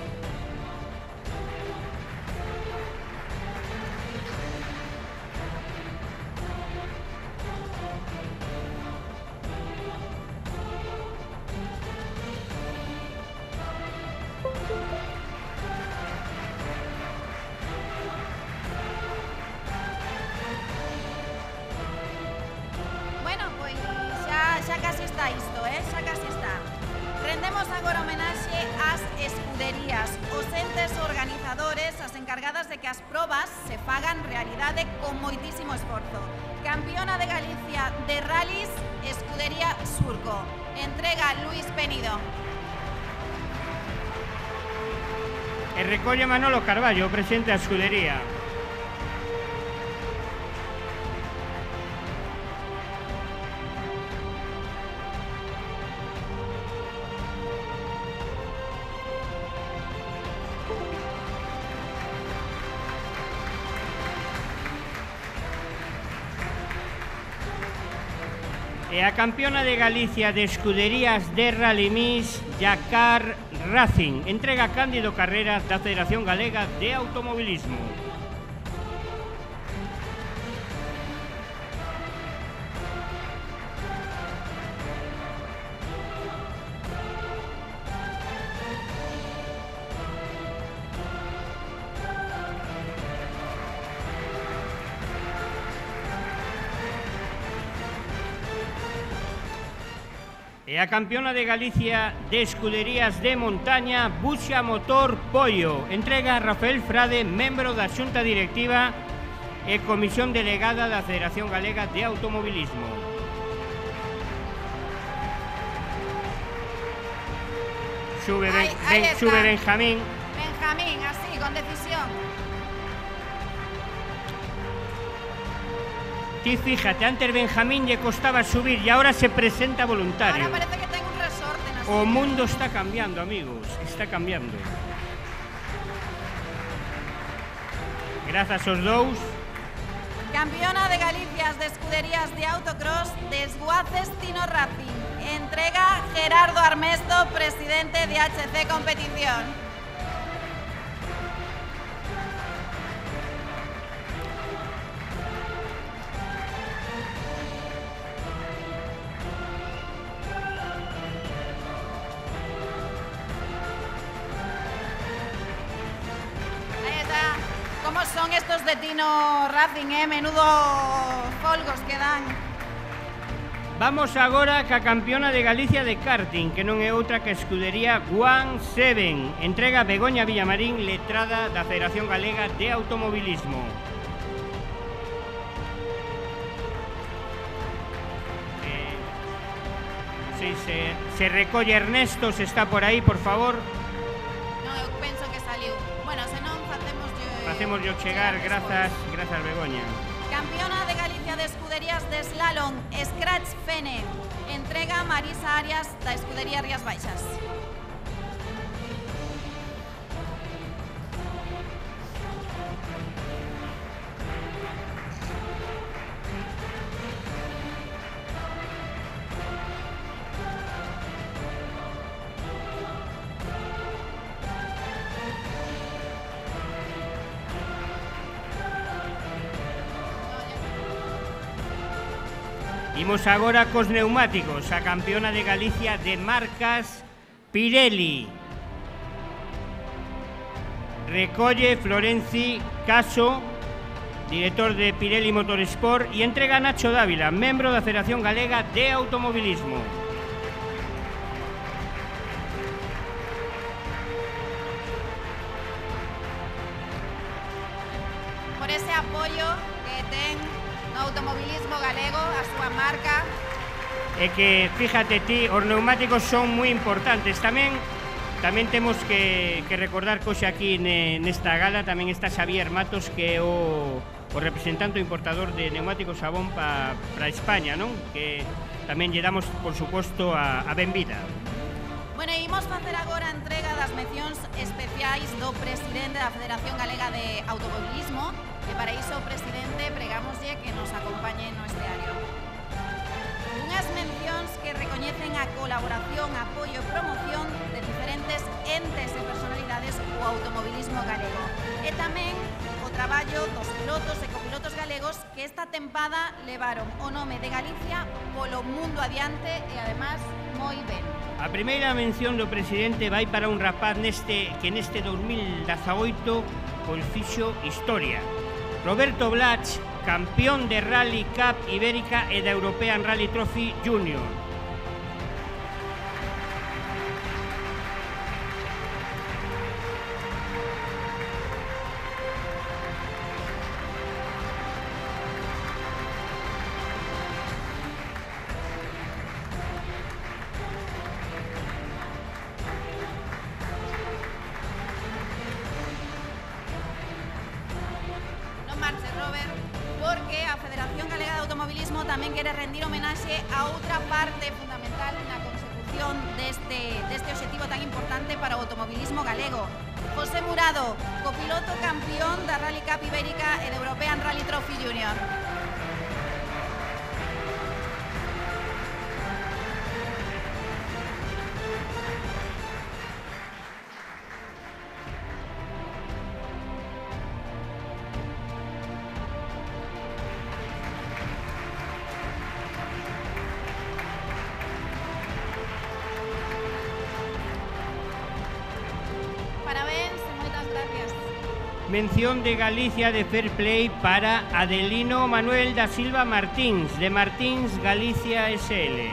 Xa casi está isto, xa casi está. Rendemos agora homenaxe ás escuderías, os entes organizadores, as encargadas de que as probas se fagan realidade con moitísimo esforzo. Campeona de Galicia de rallies, Escudería Surco. Entrega Luis Penido. E recolle Manolo Carballo, presidente da escudería. E a campeona de Galicia de escuderías de Rally Mix, Yacar Racing. Entrega Cándido Carreras da Federación Galega de Automobilismo. E a campeona de Galicia de escuderías de montaña, Buxa Motor Pollo. Entrega a Rafael Frade, membro da Xunta Directiva e Comisión Delegada da Federación Galega de Automobilismo. Sube Benjamín. Benjamín, así, con decisión. Ti fíjate, antes Benjamín lle costaba subir e ahora se presenta voluntario. Ahora parece que ten un resorte na O mundo está cambiando, amigos, está cambiando. Grazas aos dous. Campeona de Galicia de escuderías de autocross, Desguaces Tino Racing. Entrega Gerardo Armesto, presidente de HC Competición. ¿Cómo son estos de Tino Racing, Menudo folgos que dan. Vamos agora ca campeona de Galicia de karting, que non é outra que a escudería One Seven. Entrega Begoña Villamarín, letrada da Federación Galega de Automobilismo. Sí, se recolle Ernesto, se está por aí, por favor. No, eu penso que saliu. Bueno, se non Facemos yo chegar, grazas Begoña. Campeona de Galicia de escuderías de slalom, Scratch Fene. Entrega Marisa Arias da escudería Rías Baixas. Imos agora cos neumáticos, a campeona de Galicia de marcas Pirelli. Recolle Florenci Caso, director de Pirelli Motorsport, e entrega Nacho Dávila, membro da Federación Galega de Automobilismo. Por ese apoio que ten no automobilismo galego, a súa marca. É que, fíjate ti, os neumáticos son moi importantes. Tamén temos que recordar que hoxe aquí nesta gala tamén está Xavier Matos, que é o representante importador de neumáticos Sabón para España, non? Que tamén lle damos, por suposto, a benvida. Bueno, e imos facer agora a entrega das mencións especiais do presidente da Federación Galega de Automobilismo, e para iso, presidente, pregámoslle que nos acompañe no esteario. Unhas mencións que recoñecen a colaboración, apoio e promoción de diferentes entes e personalidades do automobilismo galego. E tamén o traballo dos pilotos e copilotos galegos que esta tempada levaron o nome de Galicia polo mundo adiante e, además, moi ben. A primeira mención do presidente vai para un rapaz que neste 2018 pois fixo historia. Roberto Blach, campeón de Rally Cup Ibérica e da European Rally Trophy Junior. Porque a Federación Galega de Automobilismo tamén quere rendir homenaxe a outra parte fundamental na consecución deste obxectivo tan importante para o automobilismo galego. José Murado, copiloto campeón da Rally Cup Ibérica e da European Rally Trophy Junior. Mención de Galicia de Fair Play para Adelino Manuel da Silva Martins, de Martins Galicia SL.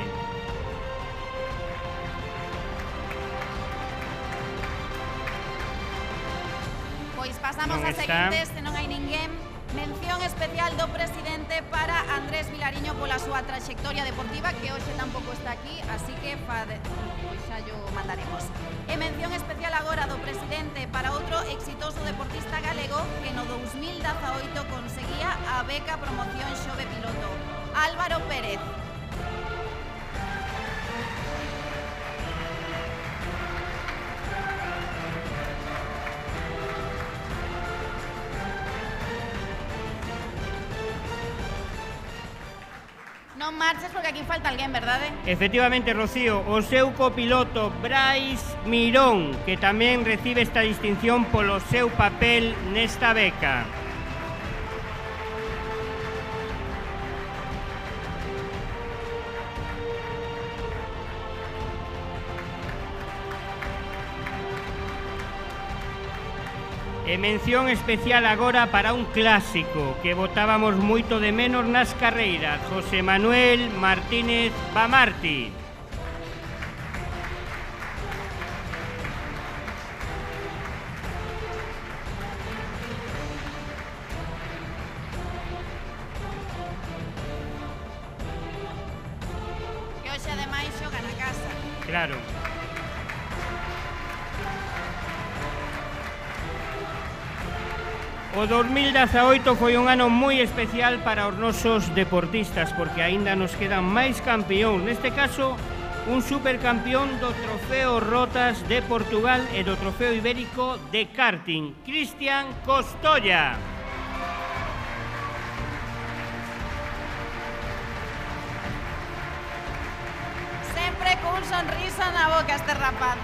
Pois pasamos a seguintes, se non hai ninguén. Mención especial do presidente para Andrés Vilariño pola súa trayectoria deportiva, que hoxe tampouco está aquí, así que pois xa yo mandaremos. E mención especial agora do presidente para outro exitoso deportista galego que no 2018 conseguía a beca Promoción Xove Piloto, Álvaro Pérez. Non marches porque aquí falta alguén, verdade? Efectivamente, Rocío, o seu copiloto Brais Mirón, que tamén recibe esta distinción polo seu papel nesta beca. E mención especial agora para un clásico que botábamos moito de menos nas carreiras, José Manuel Martínez Bamarti. Que hoxe ademais xoga na casa. Claro. O 2018 foi un ano moi especial para os nosos deportistas porque aínda nos quedan máis campeóns. Neste caso, un supercampeón do Trofeo Rotas de Portugal e do Trofeo Ibérico de Karting, Cristian Costolla. Sempre cun sonriso na boca este rapaz,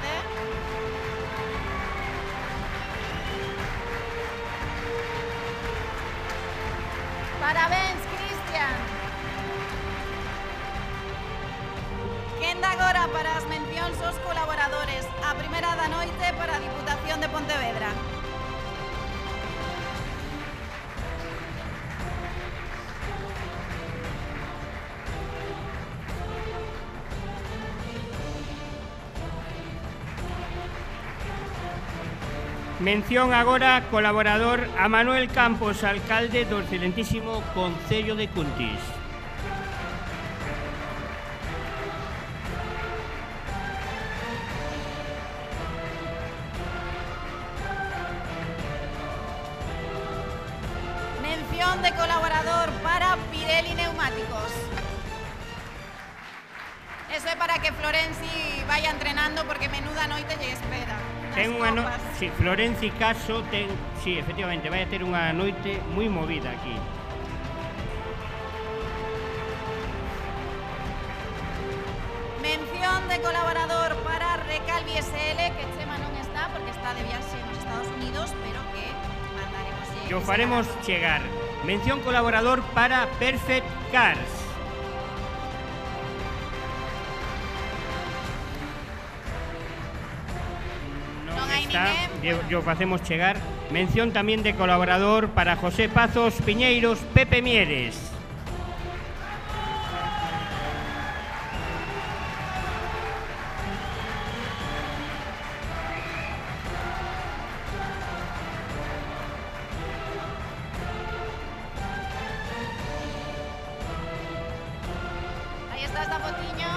Parabéns, Cristian. de Pontevedra. Mención agora colaborador a Manuel Campos, alcalde do excelentísimo Concello de Cuntis. Mención de colaborador para Pirelli Neumáticos. Eso é para que Florenci vaya entrenando porque menuda noite lle espera. Ten unha sí, Florenci Caso ten, sí, efectivamente, vai a ter unha noite moi movida aquí. Mención de colaborador para Recalvi SL, que Chema non está porque está de viaxe nos Estados Unidos, pero que mandaremos. Que o faremos chegar. Mención colaborador para Perfect Cars. Yo facemos chegar. Mención tamén de colaborador para José Pazos Piñeiros, Pepe Mieres. Aí está esta fotiño.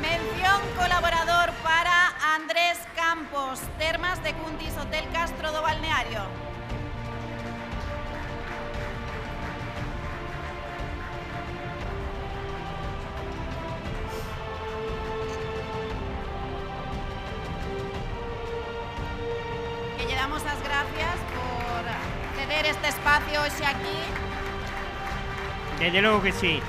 Mención colaborador para Andrés Campos, Termas de Cuntis, Hotel Castro do Balneario. Que lle damos as gracias por ceder este espacio hoxe aquí. Desde logo que sí.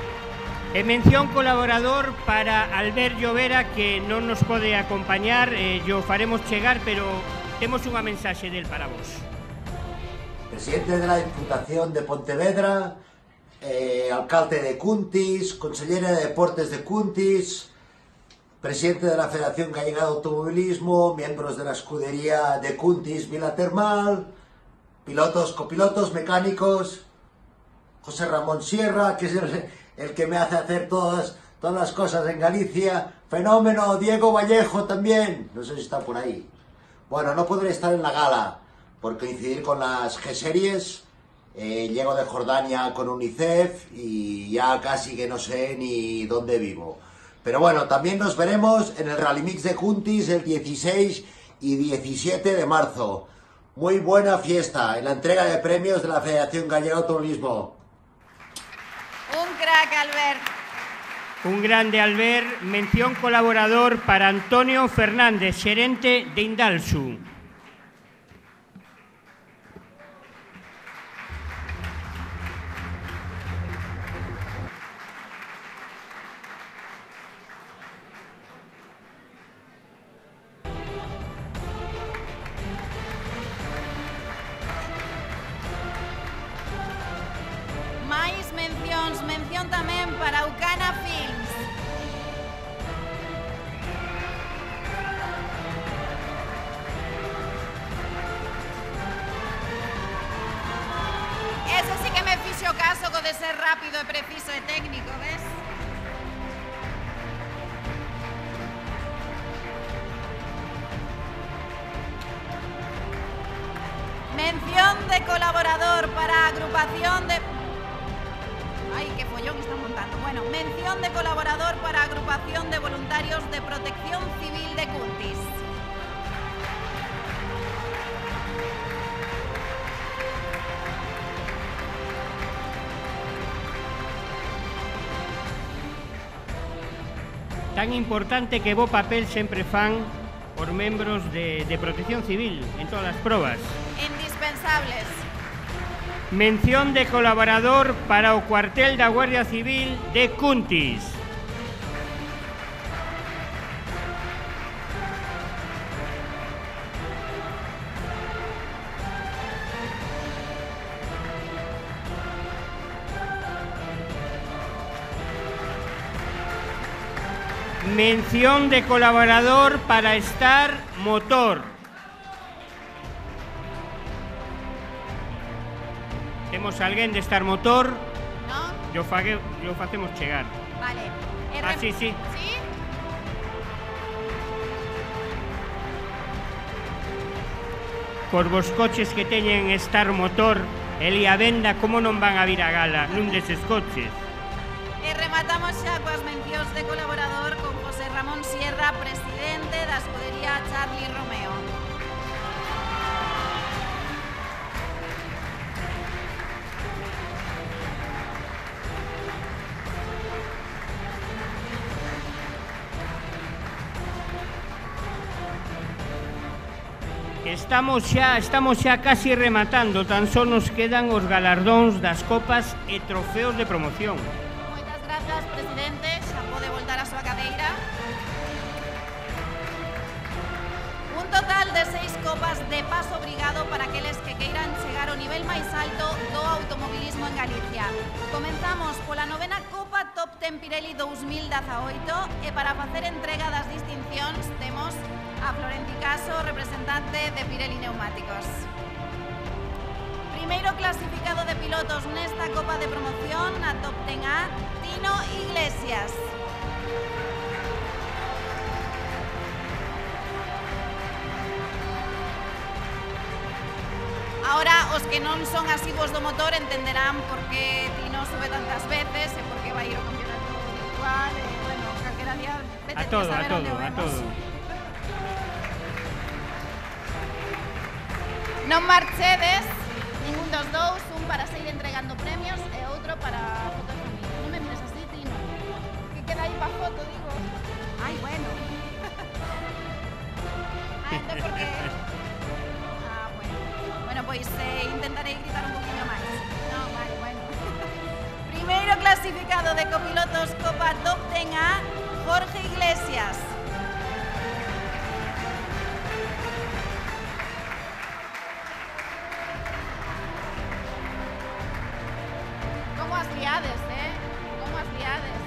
E mención colaborador para Albert Llovera, que non nos pode acompañar, yo faremos chegar, pero temos unha mensaxe del para vos. Presidente de la Diputación de Pontevedra, alcalde de Cuntis, consellera de Deportes de Cuntis, presidente de la Federación Gallega de Automovilismo, miembros de la escudería de Cuntis Vila Termal, pilotos, copilotos, mecánicos, José Ramón Sierra, que es el que me hace hacer todas las cosas en Galicia, fenómeno, Diego Vallejo también, no sé si está por ahí. Bueno, no podré estar en la gala por coincidir con las G-Series, llego de Jordania con UNICEF y ya casi que no sé ni dónde vivo. Pero bueno, también nos veremos en el Rally Mix de Cuntis el 16 y 17 de marzo. Muy buena fiesta en la entrega de premios de la Federación Gallega de Automovilismo. Un crack, Albert. Un grande Albert. Mención colaborador para Antonio Fernández, xerente de Indalsu. Mención tamén para Ucana Films. Ese sí que me fixo caso co de ser rápido e preciso e técnico, ves? Mención de colaborador para agrupación de... Ay, qué follón están montando. Bueno, mención de colaborador para agrupación de voluntarios de Protección Civil de Cuntis. Tan importante que bo papel sempre fan os membros de Protección Civil en todas as probas. Indispensables. Mención de colaborador para o cuartel da Guardia Civil de Cuntis. Mención de colaborador para Star Motor. Temos alguén de Star Motor? No? Yo facemos chegar. Vale. Sí. ¿Sí? Cos vos coches que teñen Star Motor, el e a venda, como non van a vir a gala nun deses coches? E rematamos xa coas mencións de colaborador con José Ramón Sierra, presidente da escudería Charlie Romeo. Estamos xa casi rematando, tan só nos quedan os galardóns das copas e trofeos de promoción. Moitas grazas, presidente, xa pode voltar a súa cadeira. Un total de 6 copas de paso obrigado para aqueles que queiran chegar ao nivel máis alto do automobilismo en Galicia. Comenzamos pola novena Copa Top 10 Pirelli 2018 e para facer entrega das distincións temos a Florenci Caso, representante de Pirelli Neumáticos. Primeiro clasificado de pilotos nesta Copa de Promoción, a Top 10A, Tino Iglesias. Ahora, os que non son asiguos do motor entenderán por que Tino sube tantas veces e por que vai ir ao campeonato virtual, e, bueno, calquera día vete a saber onde o vemos. Non marchedes, ningún dos dous, un para seguir entregando premios e outro para foto de familia. Non me mires así, Tino. Que queda aí pa foto, digo. Ai, bueno. Entón porque... bueno. Bueno, pois intentarei gritar un poquinho máis. Non, vale, bueno. Primeiro clasificado de copilotos Copa Top 10A, Jorge Iglesias. Como as liades, Como as liades.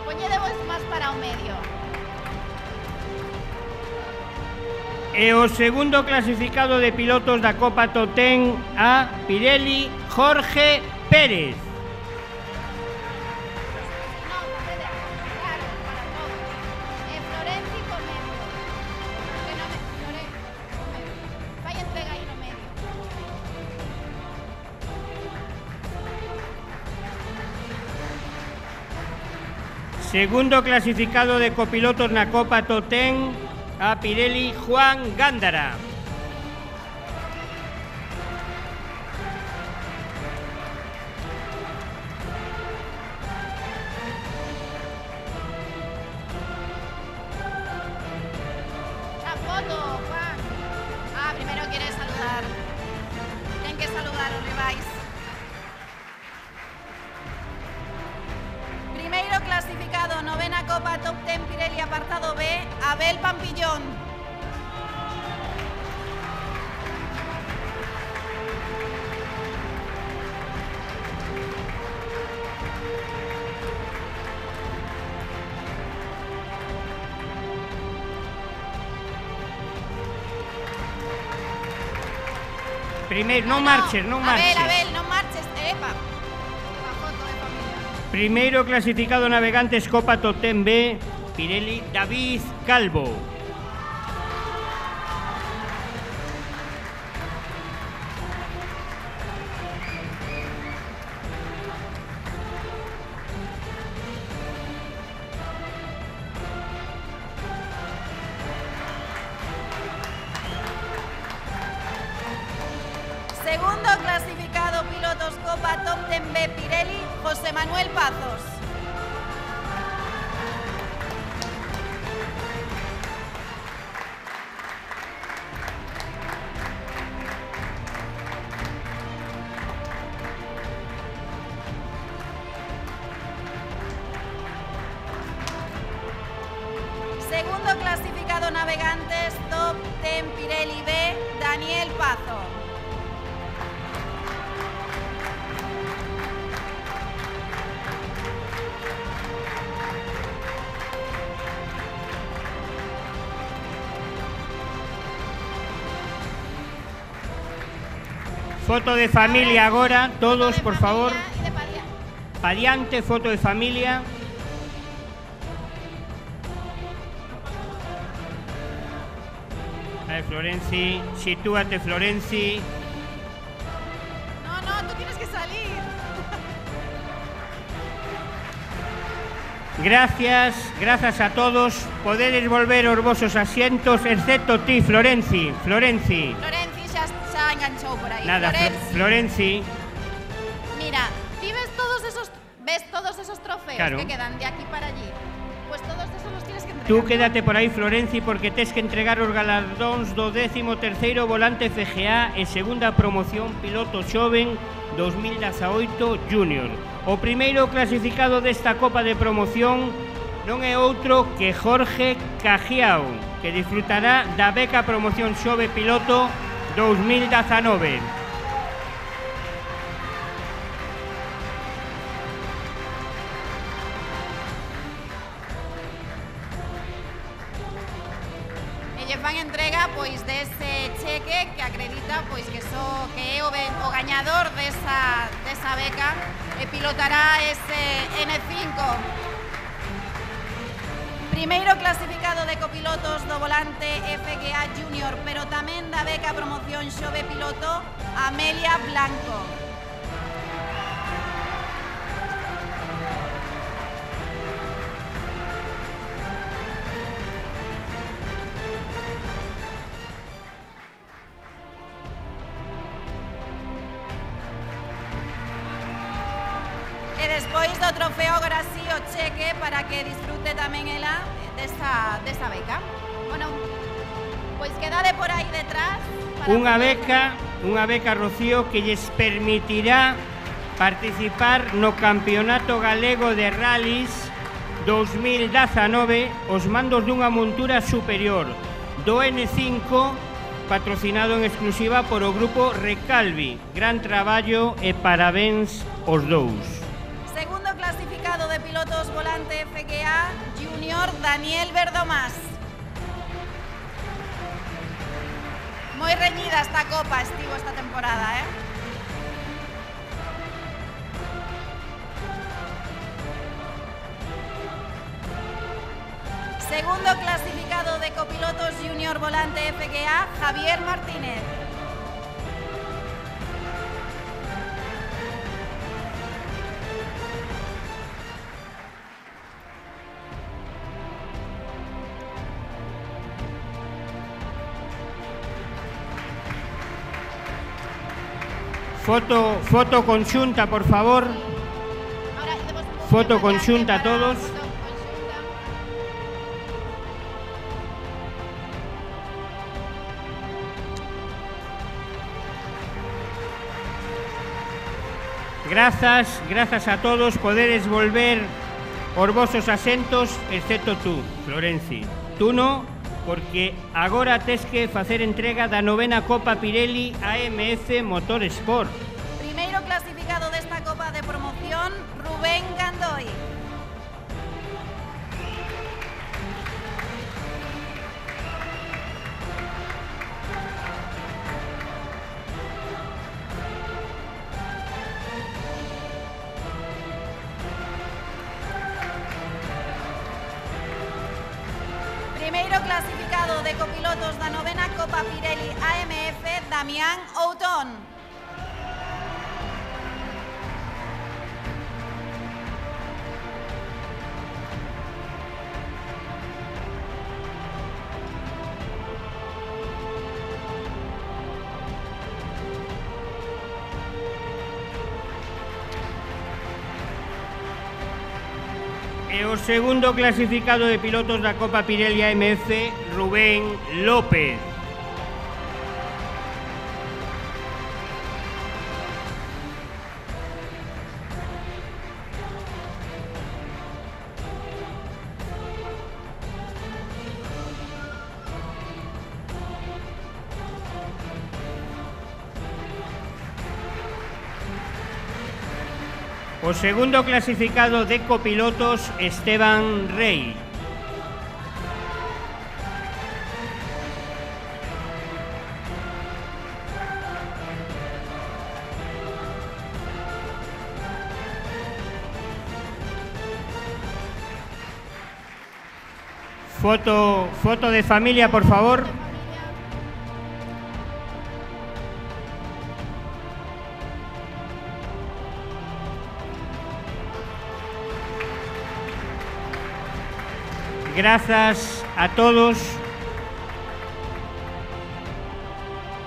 Poñedevos máis para o medio. E o segundo clasificado de pilotos da Copa Top 10 a Pirelli, Jorge Pérez. Segundo clasificado de copilotos na Copa Top 10 a Pirelli, Juan Gándara. La foto, Juan. Primero quiere saludar. Tienen que saludar os rivais. Primeiro clasificado, novena Copa Top 10 Pirelli apartado B, Abel Pampillón. Primeiro, non marches, non marches. Abel, non marches, epa. A foto de familia. Primeiro clasificado navegantes Copa Top 10B, Pirelli, David Calvo. Segundo clasificado pilotos Copa Top 10B Pirelli, José Manuel Pazos. Segundo clasificado navegantes Top 10 Pirelli B, Daniel Pazo. Foto de familia agora, todos, por favor. Y de Padilla. Pa diante, foto de familia. A ver, Florenci, sitúate, Florenci. No, tú tienes que salir. Gracias a todos. Podedes volver aos vosos asientos, excepto ti, Florenci. Florenci xa enganchou por aí. Nada, Florenci. Mira, ti ves todos esos trofeos Claro. que quedan de aquí para allí. Pues todos esos los tienes que entregar. Tú quédate por aí, Florenci, porque tes que entregar os galardóns do 13º volante FGA e segunda promoción piloto xoven 2018 Junior. O primeiro clasificado desta Copa de Promoción non é outro que Jorge Cajiao, que disfrutará da beca Promoción Xove Piloto 2019. Lle fan entrega pois dese cheque que acredita pois que é o gañador desa beca e pilotará ese N5. Primeiro clasificado de copilotos do volante FGA Junior, pero tamén da beca Promoción Xove Piloto, Amelia Blanco. E despois do trofeo agora sí o cheque para que disfrute tamén ela desta beca. Bueno, pois quedade por aí detrás. Unha beca, Rocío, que lles permitirá participar no Campeonato Galego de Rallys 2019 os mandos dunha montura superior do N5, patrocinado en exclusiva por o grupo Recalvi. Gran traballo e parabéns aos dous. Segundo clasificado de pilotos volante FGA Junior, Daniel Verdomás. Moi reñida esta copa estivo esta temporada, Segundo clasificado de copilotos Junior volante FGA, Javier Martínez. Foto conxunta, por favor. Foto conxunta todos. Grazas a todos. Podedes volver aos vosos asentos, excepto tú, Florenci. Tú no, porque agora tes que facer entrega da 9ª Copa Pirelli AMF Motorsport. Primeiro clasificado desta Copa de Promoción, Rubén Gandoy. Primeiro clasificado de copilotos da 9ª Copa Pirelli AMF, Damián Outón. E o segundo clasificado de pilotos da Copa Pirelli AMF, Rubén López. O segundo clasificado de copilotos, Esteban Rey. Foto de familia, por favor. Gracias a todos.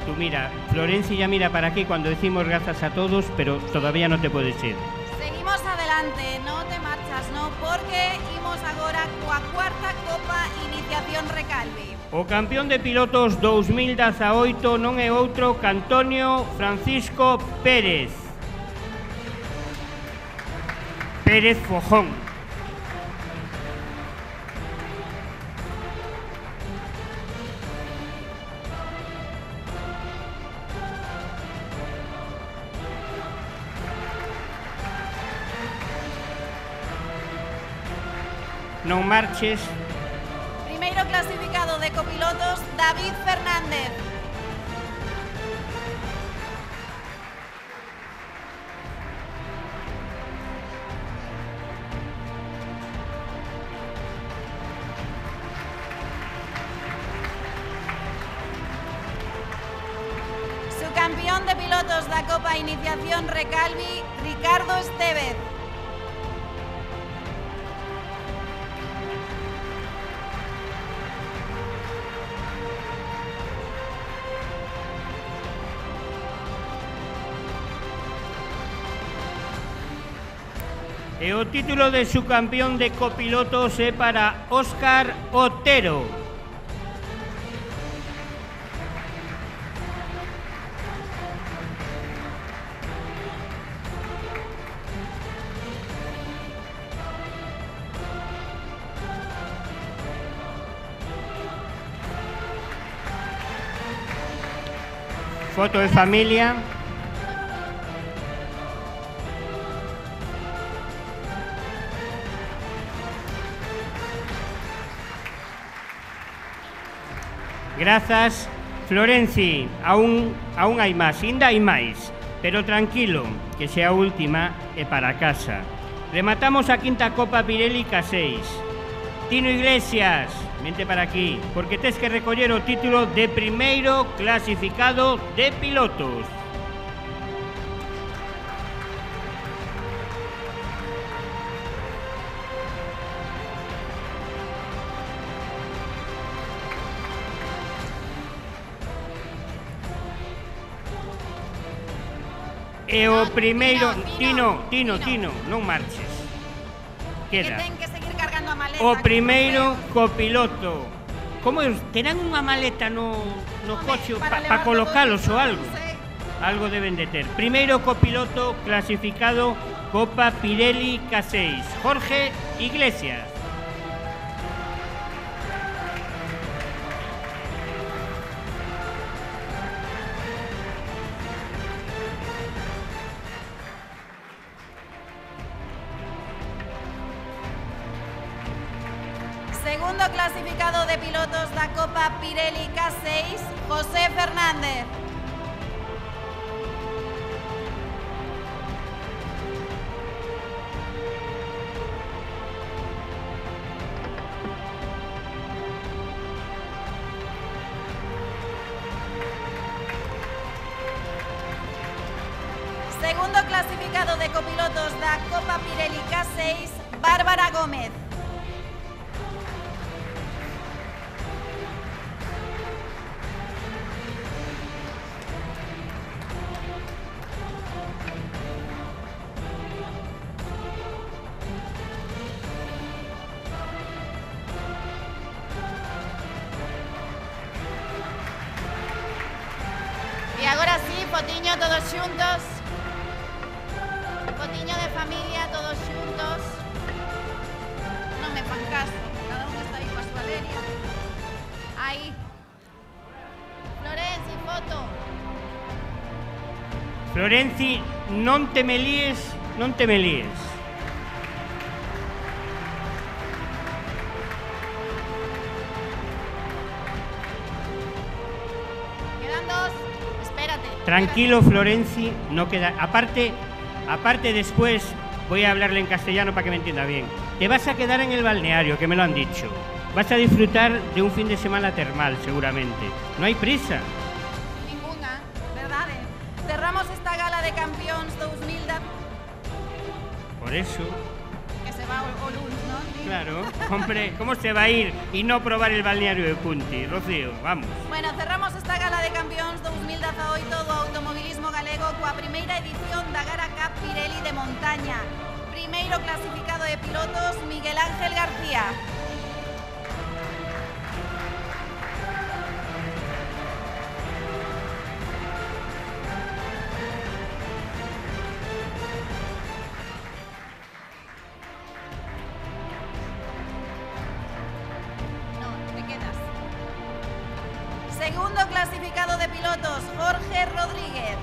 Tú mira, Florencia ya mira para aquí cuando decimos gracias a todos, pero todavía no te puedes ir. Seguimos adelante, no te marchas, no, porque imos agora coa cuarta Copa Iniciación Recalvi. O campeón de pilotos 2018 non é outro que Antonio Francisco Pérez. Pérez Fojón. Non marches. Primeiro clasificado de copilotos, David Fernández. Subcampeón de pilotos da Copa Iniciación Recalvi, Ricardo Estevez. E o título de subcampeón de copilotos é para Óscar Otero. Foto de familia. Grazas, Florenci, aún hai máis, ainda hai máis, pero tranquilo, que sea a última e para casa. Rematamos a quinta Copa Pirelli K6. Tino Iglesias, vente para aquí, porque tes que recoller o título de primeiro clasificado de pilotos. E o primeiro... Tino, non marches. Queda. Que ten que seguir cargando a maleta. O primeiro copiloto. Como terán unha maleta no coche para colocalos ou algo? Algo deben de ter. Primeiro copiloto clasificado Copa Pirelli K6. Jorge Iglesias. Segundo clasificado de pilotos da Copa Pirelli K6, José Fernández. Segundo clasificado de copilotos da Copa Pirelli K6, Bárbara Gómez. E agora sí, fotiño todos xuntos. Fotiño de familia todos xuntos. Non me fan caso, cada un está aí coa súa leria. Aí. Florenci, foto. Florenci, non te me líes, non te me líes. Quedan dos. Espérate. Tranquilo, Florenci, no queda... Aparte después voy a hablarle en castellano para que me entienda bien. Te vas a quedar en el balneario, que me lo han dicho. vas a disfrutar de un fin de semana termal, seguramente. No hai prisa. Ninguna, verdade? Cerramos esta gala de campións 2010. Por eso, Que se va o luns, non? claro, hombre, ¿cómo se va a ir y no probar el balneario de Cuntis, Rocío? Vamos. Bueno, cerramos esta gala de campións 2018 do automobilismo galego coa primeira edición da Gara Cup Pirelli de montaña. Primeiro clasificado de pilotos, Miguel Ángel García. Segundo clasificado de pilotos, Jorge Rodríguez.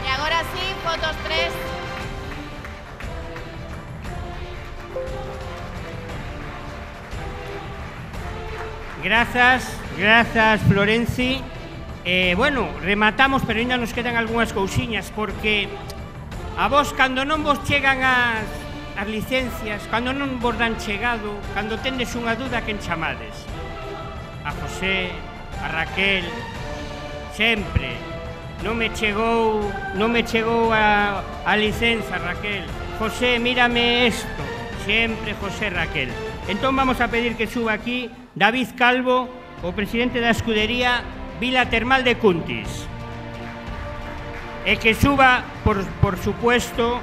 Y agora sí, fotos 3. Grazas, Florenci. Bueno, rematamos, pero ainda nos quedan algunhas cousiñas, porque a vos, cando non vos chegan as licencias, cando non vos dan chegado, cando tendes unha duda, quen chamades? A José, a Raquel, sempre. Non me chegou a licenza, Raquel. José, mírame esto. Sempre José, Raquel. Entón vamos a pedir que suba aquí David Calvo, o presidente da escudería Vila Termal de Cuntis. E que suba, por supuesto,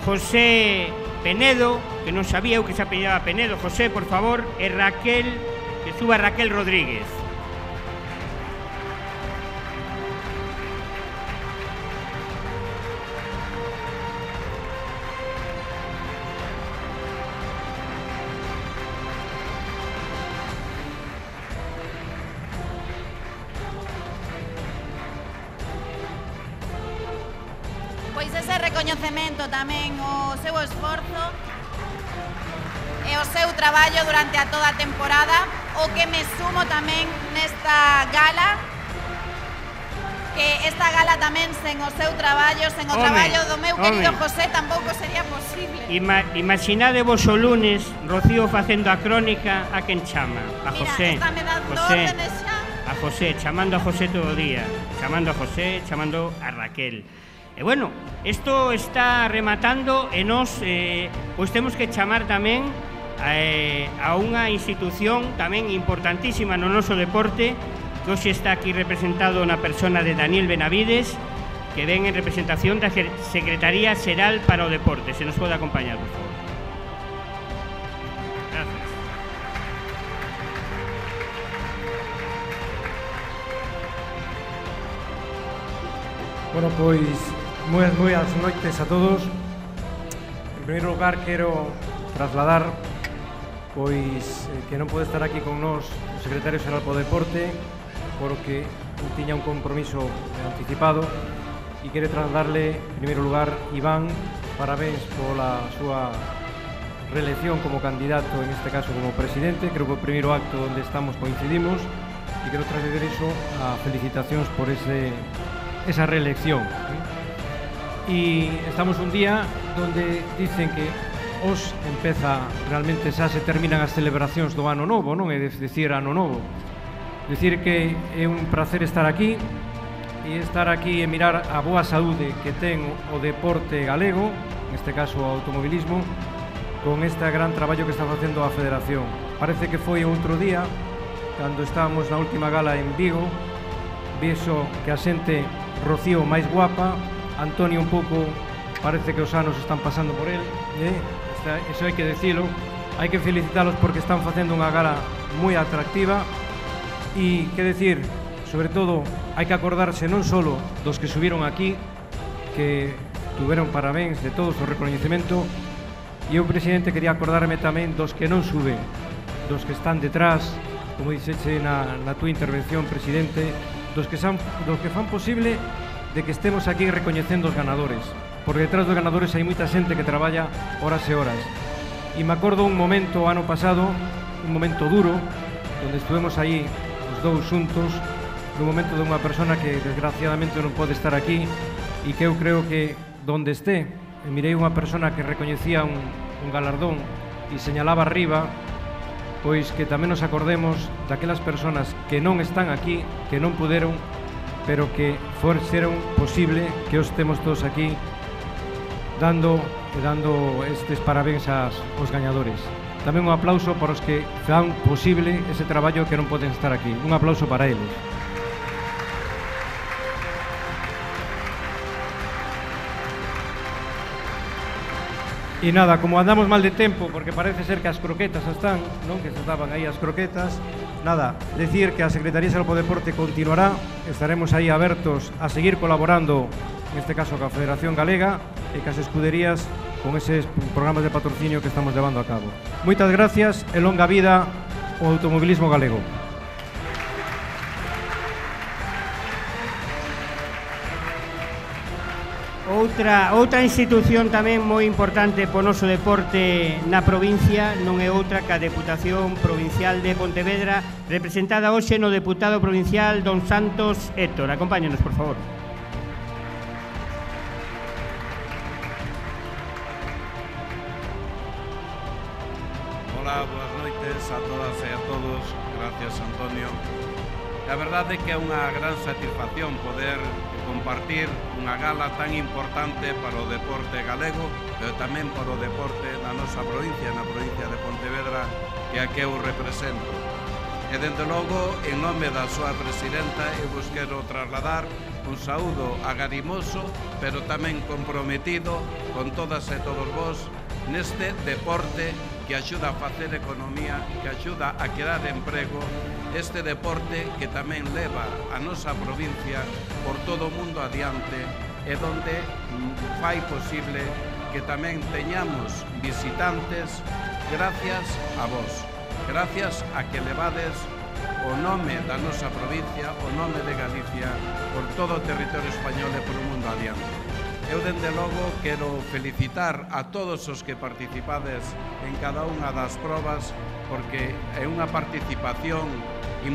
José Penedo, que non sabía eu que se apellidaba Penedo. José, por favor, e Raquel, que suba Raquel Rodríguez. Pois ese recoñecemento tamén o seu esforzo e o seu traballo durante a toda a temporada, o que me sumo tamén nesta gala, que esta gala tamén sen o seu traballo, sen o traballo do meu querido José tampouco sería posible. Imaginade vos o lunes Rocío facendo a crónica, a quen chama? A José. Mira, está me dando órdenes xa. A José, chamando a José todo o día, chamando a José, chamando a Raquel. E bueno, isto está rematando e nos pois temos que chamar tamén a unha institución tamén importantísima no noso deporte, que hoxe está aquí representado na persona de Daniel Benavides, que ven en representación da Secretaría Xeral para o Deporte. Se nos pode acompañar, por favor. Gracias. Bueno, pois moi boas noites a todos. En primeiro lugar, quero trasladar pois que non pode estar aquí con nós o secretario xeral para o deporte, porque tiña un compromiso anticipado, e quere trasladarle, en primeiro lugar, Iván, parabéns pola súa reelección como candidato, en este caso como presidente. Creo que o primeiro acto onde estamos coincidimos, e quero trasladar iso a felicitacións por esa reelección. E estamos un día donde dicen que os empeza realmente, xa se terminan as celebracións do ano novo, non é dicir ano novo. Dicir que é un placer estar aquí e mirar a boa saúde que ten o deporte galego, neste caso o automobilismo, con este gran traballo que está facendo a Federación. Parece que foi outro día, cando estábamos na última gala en Vigo, vexo que a xente Rocío máis guapa, Antonio un pouco, parece que os anos están pasando por él, eso hai que decilo, hai que felicitalos porque están facendo unha gala moi atractiva. E que decir, sobre todo, hai que acordarse non só dos que subiron aquí, que tuveron parabéns de todos o recoñecemento, e eu, presidente, quería acordarme tamén dos que non suben, dos que están detrás, como dixeche na túa intervención, presidente, dos que fan posible de que estemos aquí recoñecendo os ganadores. por detrás dos ganadores hai moita xente que traballa horas e horas. E me acordo un momento ano pasado, un momento duro, onde estuvemos aí os dous xuntos, nun momento de unha persona que desgraciadamente non pode estar aquí e que eu creo que donde este, mirei unha persona que recoñecía un galardón e señalaba arriba, pois que tamén nos acordemos daquelas persoas que non están aquí, que non puderon, pero que fixeron posible que os temos todos aquí dando estes parabéns aos gañadores. Tamén un aplauso para os que fan posible ese traballo que non poden estar aquí. Un aplauso para eles. E nada, como andamos mal de tempo, porque parece ser que as croquetas están, non? Que se estaban aí as croquetas. Nada, decir que a Secretaría de Salud e Deporte continuará, estaremos aí abertos a seguir colaborando, neste caso coa Federación Galega e cas escuderías con eses programas de patrocinio que estamos levando a cabo. Moitas gracias e longa vida ao automobilismo galego. Outra institución tamén moi importante po noso deporte na provincia non é outra que a Deputación Provincial de Pontevedra, representada hoxe no deputado provincial don Santos Héctor. Acompáñenos, por favor. Hola, boas noites a todas e a todos. Gracias, Antonio. A verdade é que é unha gran satisfacción poder compartir unha gala tan importante para o deporte galego, pero tamén para o deporte na nosa provincia, na provincia de Pontevedra, que a que eu represento. E, dende logo, en nome da súa presidenta, eu vos quero trasladar un saúdo agarimoso, pero tamén comprometido con todas e todos vos neste deporte que axuda a facer economía, que axuda a crear emprego, este deporte que tamén leva a nosa provincia por todo o mundo adiante e donde fai posible que tamén teñamos visitantes gracias a vos, gracias a que levades o nome da nosa provincia, o nome de Galicia, por todo o territorio español e por o mundo adiante. Eu, dende logo, quero felicitar a todos os que participades en cada unha das probas, porque é unha participación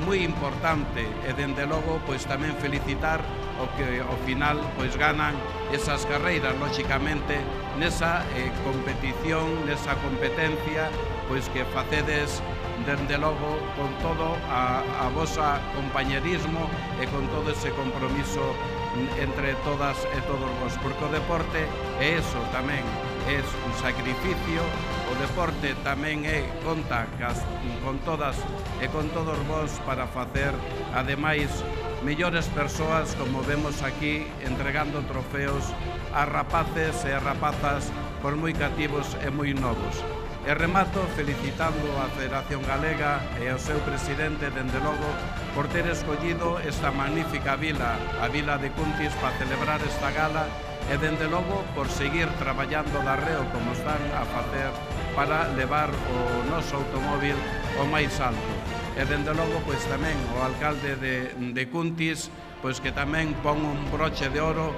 moi importante e, dende logo, pois tamén felicitar o que ao final pois ganan esas carreiras, lóxicamente, nesa competición, nesa competencia, pois que facedes dende logo con todo a vosa compañerismo e con todo ese compromiso entre todas e todos vos, porque o deporte é eso tamén, é un sacrificio, o deporte tamén conta con todas e con todos vos para facer, ademais, mellores persoas, como vemos aquí, entregando trofeos a rapaces e a rapazas por moi cativos e moi novos. E remato felicitando a Federación Galega e ao seu presidente, dende logo, por ter escollido esta magnífica vila, a vila de Cuntis, para celebrar esta gala e, dende logo, por seguir traballando de arreo como están a facer para levar o noso automóvil ao máis alto. E, dende logo, pois tamén o alcalde de Cuntis, pois que tamén pon un broche de ouro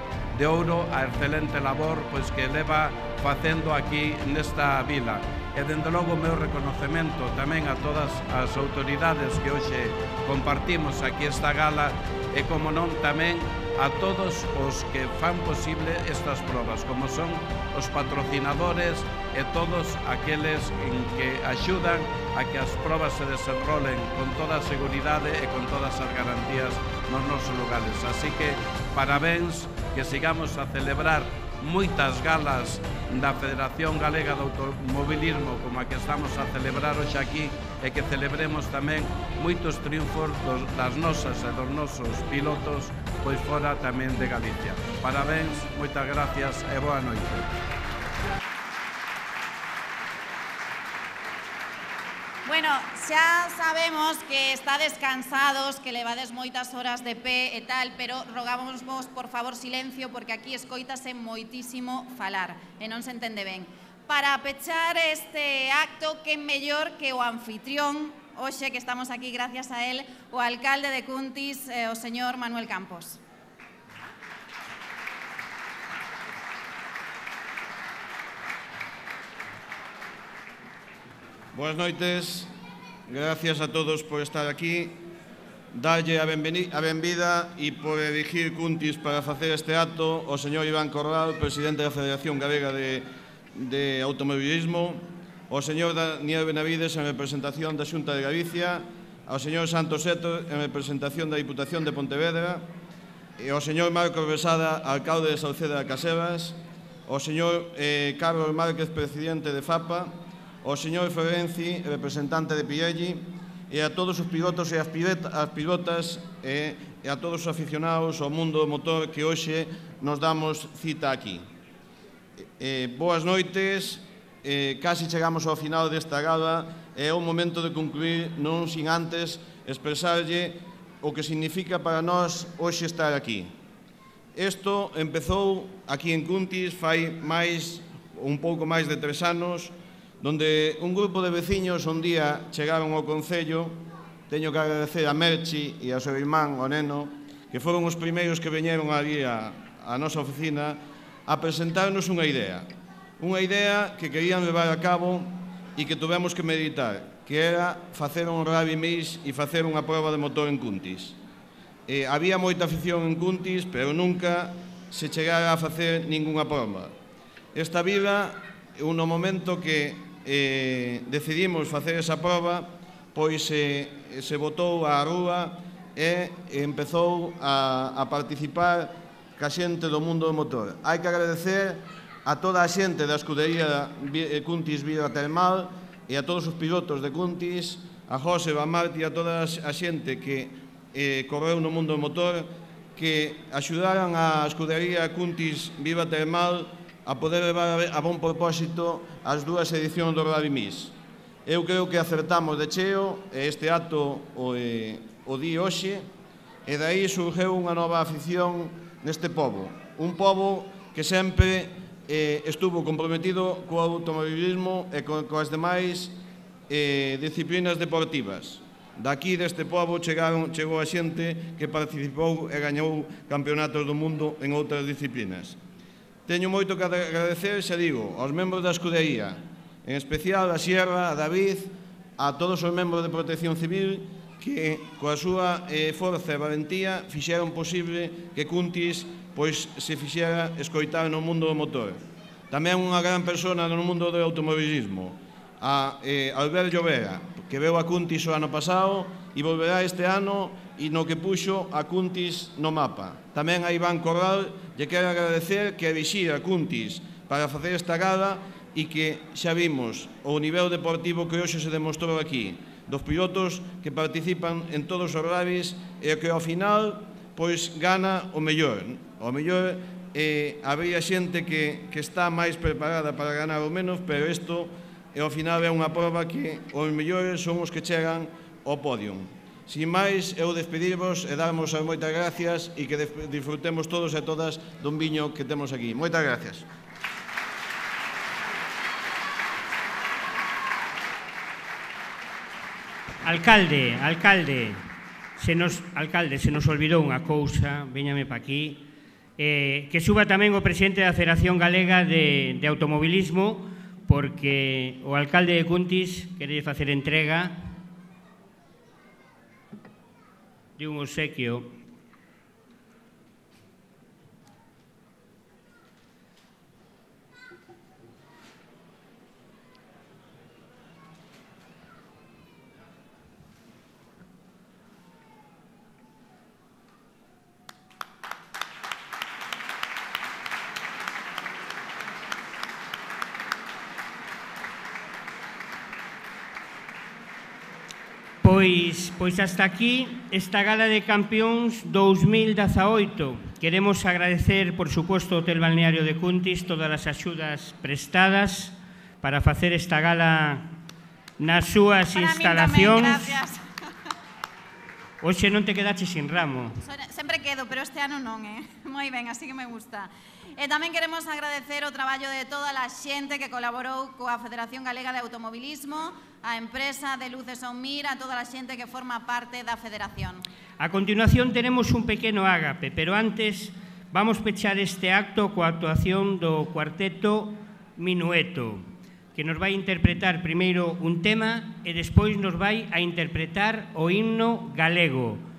a excelente labor pois que leva facendo aquí nesta vila. E, dende logo, o meu reconocemento tamén a todas as autoridades que hoxe compartimos aquí esta gala e, como non, tamén a todos os que fan posible estas probas, como son os patrocinadores e todos aqueles en que axudan a que as probas se desenrolen con toda a seguridade e con todas as garantías nos nosos lugares. Así que, parabéns, que sigamos a celebrar moitas galas da Federación Galega de Automobilismo como a que estamos a celebrar hoxe aquí e que celebremos tamén moitos triunfos das nosas e dos nosos pilotos pois fora tamén de Galicia. Parabéns, moitas gracias e boa noite. Bueno, xa sabemos que estades cansados, que levades moitas horas de pé e tal, pero rogámosvos, por favor, silencio, porque aquí escoítase moitísimo falar e non se entende ben. Para pechar este acto, que mellor que o anfitrión, hoxe que estamos aquí gracias a él, o alcalde de Cuntis, o señor Manuel Campos. Boas noites, gracias a todos por estar aquí. Dalle a benvida e por elegir Cuntis para facer este acto o señor Iván Corral, presidente da Federación Galega de Automobilismo, o señor Daniel Benavides en representación da Xunta de Galicia, ao señor Santos Seto en representación da Diputación de Pontevedra, e ao señor Marcos Besada, alcalde de Sauceda de Caselas, ao señor Carlos Márquez, presidente de FAPA, ao señor Ferenci, representante de Pirelli, e a todos os pilotos e as pilotas e a todos os aficionados ao mundo do motor que hoxe nos damos cita aquí. Boas noites, casi chegamos ao final desta gala e é o momento de concluir non sin antes expresarlle o que significa para nós hoxe estar aquí. Isto empezou aquí en Cuntis fai un pouco máis de 3 anos, donde un grupo de veciños un día chegaron ao Concello. Teño que agradecer a Merchi e ao seu irmán, o Neno, que foron os primeiros que veñeron ali a nosa oficina a presentarnos unha idea que querían levar a cabo e que tuvemos que meditar, que era facer un rally mix e facer unha proba de motor en Cuntis. Había moita afición en Cuntis, pero nunca se chegara a facer ningunha proba. Esta vila, no momento que decidimos facer esa proba, pois se botou á rúa e empezou a participar ca xente do mundo do motor. Hai que agradecer a toda a xente da escudería Cuntis Vila Termal e a todos os pilotos de Cuntis, a José, a Marti e a toda a xente que correu no mundo do motor, que axudaran a escudería Cuntis Vila Termal a poder levar a bon propósito as 2 edicións do Rally Mix. Eu creo que acertamos de cheo e este acto o di hoxe, e dai surgeu unha nova afición neste pobo. Un pobo que sempre estuvo comprometido co automobilismo e coas demais disciplinas deportivas. Daqui deste pobo chegou a xente que participou e gañou campeonatos do mundo en outras disciplinas. Teño moito que agradecer, xa digo, aos membros da escudería, en especial a Sierra, a David, a todos os membros de Protección Civil que, coa súa forza e valentía, fixeron posible que Cuntis se fixera escoitar no mundo do motor. Tamén unha gran persona no mundo do automobilismo, a Albert Llovera, que veu a Cuntis o ano pasado e volverá este ano e no que puxo a Cuntis no mapa. Tamén a Iván Corral lle quero agradecer que elixira a Cuntis para facer esta gala e que xa vimos o nivel deportivo que hoxe se demostrou aquí, dos pilotos que participan en todos os rallies e que ao final gana o mellor. O mellor habría xente que está máis preparada para ganar o menos, pero isto ao final é unha prova que os mellores son os que chegan ao podio. Sin máis, eu despedirvos e darmos as moitas gracias e que disfrutemos todos e todas dun viño que temos aquí. Moitas gracias. Alcalde, se nos olvidou unha cousa, véñame pa aquí, que suba tamén o presidente da Federación Galega de Automobilismo, porque o alcalde de Cuntis quere facer entrega de un obsequio. Pois hasta aquí esta Gala de Campións 2018. Queremos agradecer, por suposto, ao Hotel Balneario de Cuntis todas as axudas prestadas para facer esta gala nas súas instalacións. Hoxe non te quedaches sin ramo. Sempre quedo, pero este ano non, moi ben, así que me gusta. E tamén queremos agradecer o traballo de toda a xente que colaborou coa Federación Galega de Automobilismo, a empresa de Luces Onmir, a toda a xente que forma parte da Federación. A continuación tenemos un pequeno ágape, pero antes vamos pechar este acto coa actuación do cuarteto Minueto. que nos vai interpretar primeiro un tema e despois nos vai a interpretar o himno galego.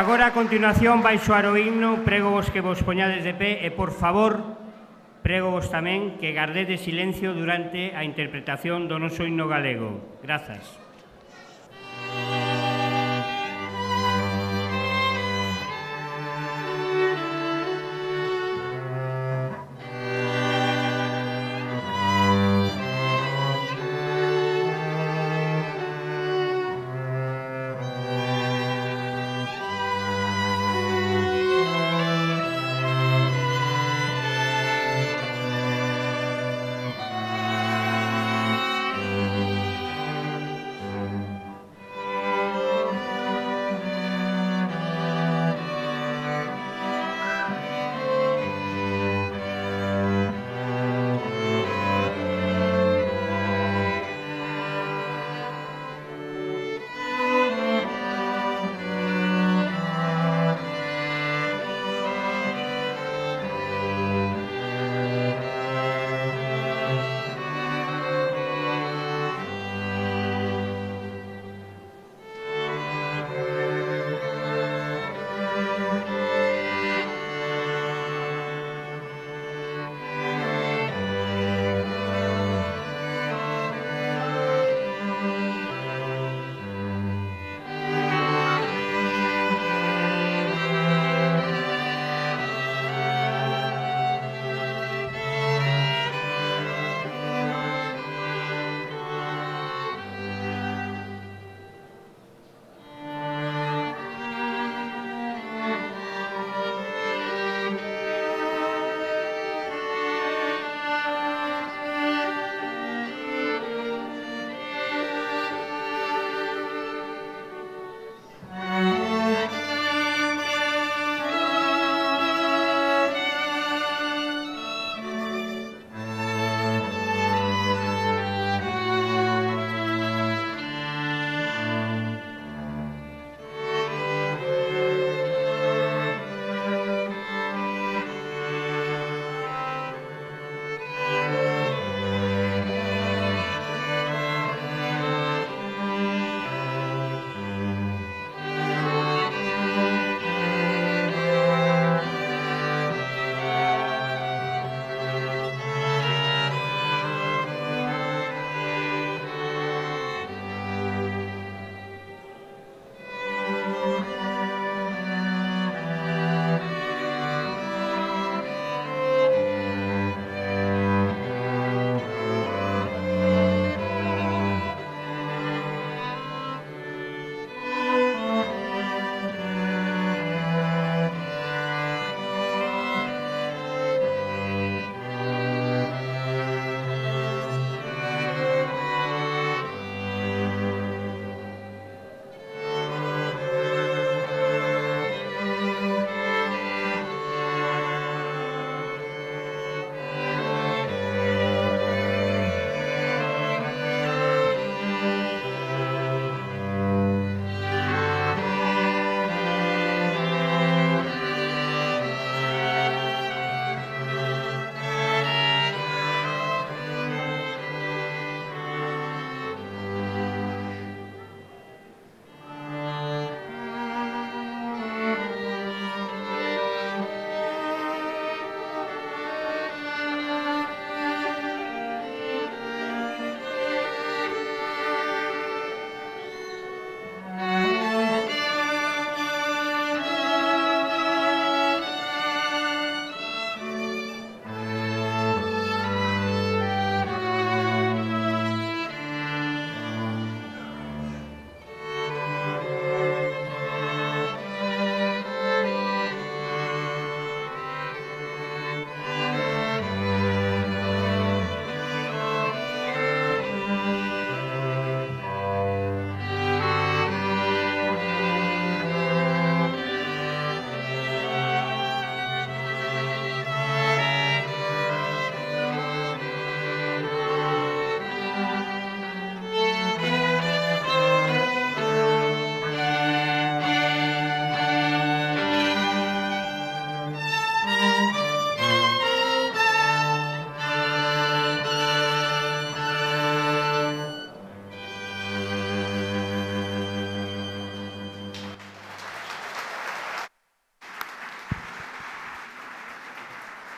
Agora a continuación vai soar o himno, prego vos que vos poñades de pé e, por favor, prego vos tamén que gardedes silencio durante a interpretación do noso himno galego. Grazas.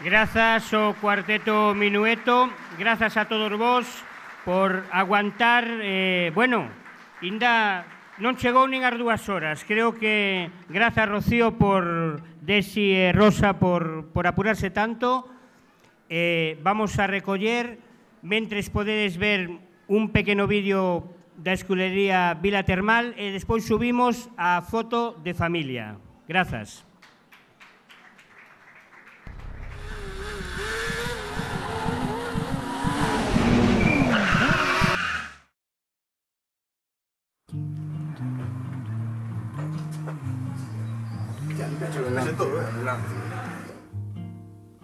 Grazas ao Cuarteto Minueto, grazas a todos vos por aguantar, bueno, ainda non chegou nin as 2 horas. Creo que grazas Rocío por Desi e Rosa por apurarse tanto. Vamos a recoller, mentres podedes ver un pequeno vídeo da esculería Vila Termal e despois subimos a foto de familia. Grazas.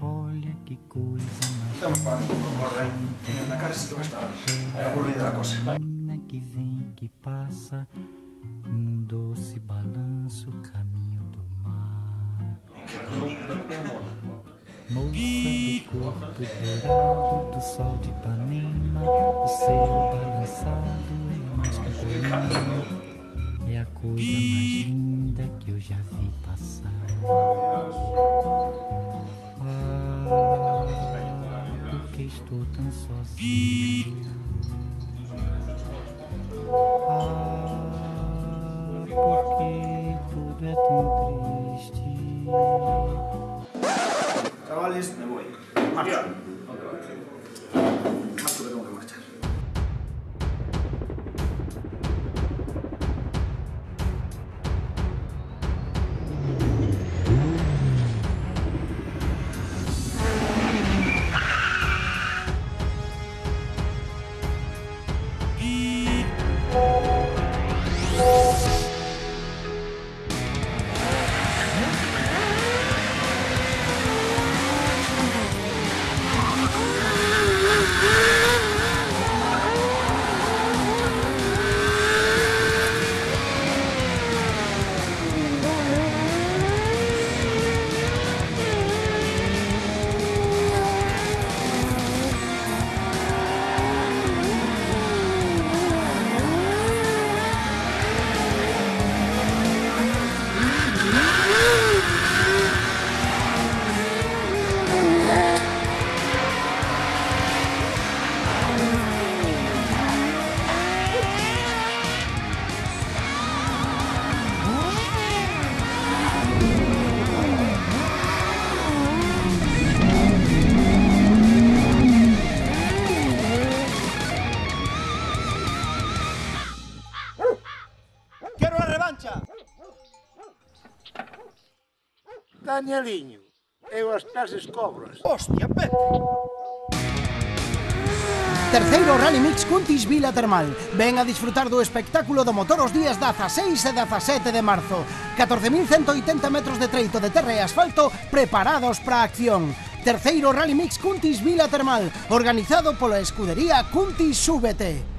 Olha que coisa mais na cara se vai estar aburrida a coisa. Que vem que passa num doce balanço caminho do mar. Moça do corpo dourado do sol de Ipanema, o seu balançado é mais que bonito. É a coisa mais linda que eu já vi passar. Porque estou tão sozinho. Porque tudo é tão triste. Chavales, me voy. Marcha. Marcho que tengo que marchar. Danieliño, eu as clases cobras. Hostia, Pepe! Terceiro Rally Mix Cuntis Vila Termal. Ven a disfrutar do espectáculo do motor os días 16 e 17 de marzo. 14.180 metros de treito de terra e asfalto preparados para a acción. Terceiro Rally Mix Cuntis Vila Termal, organizado pola escudería Cuntis Súbete.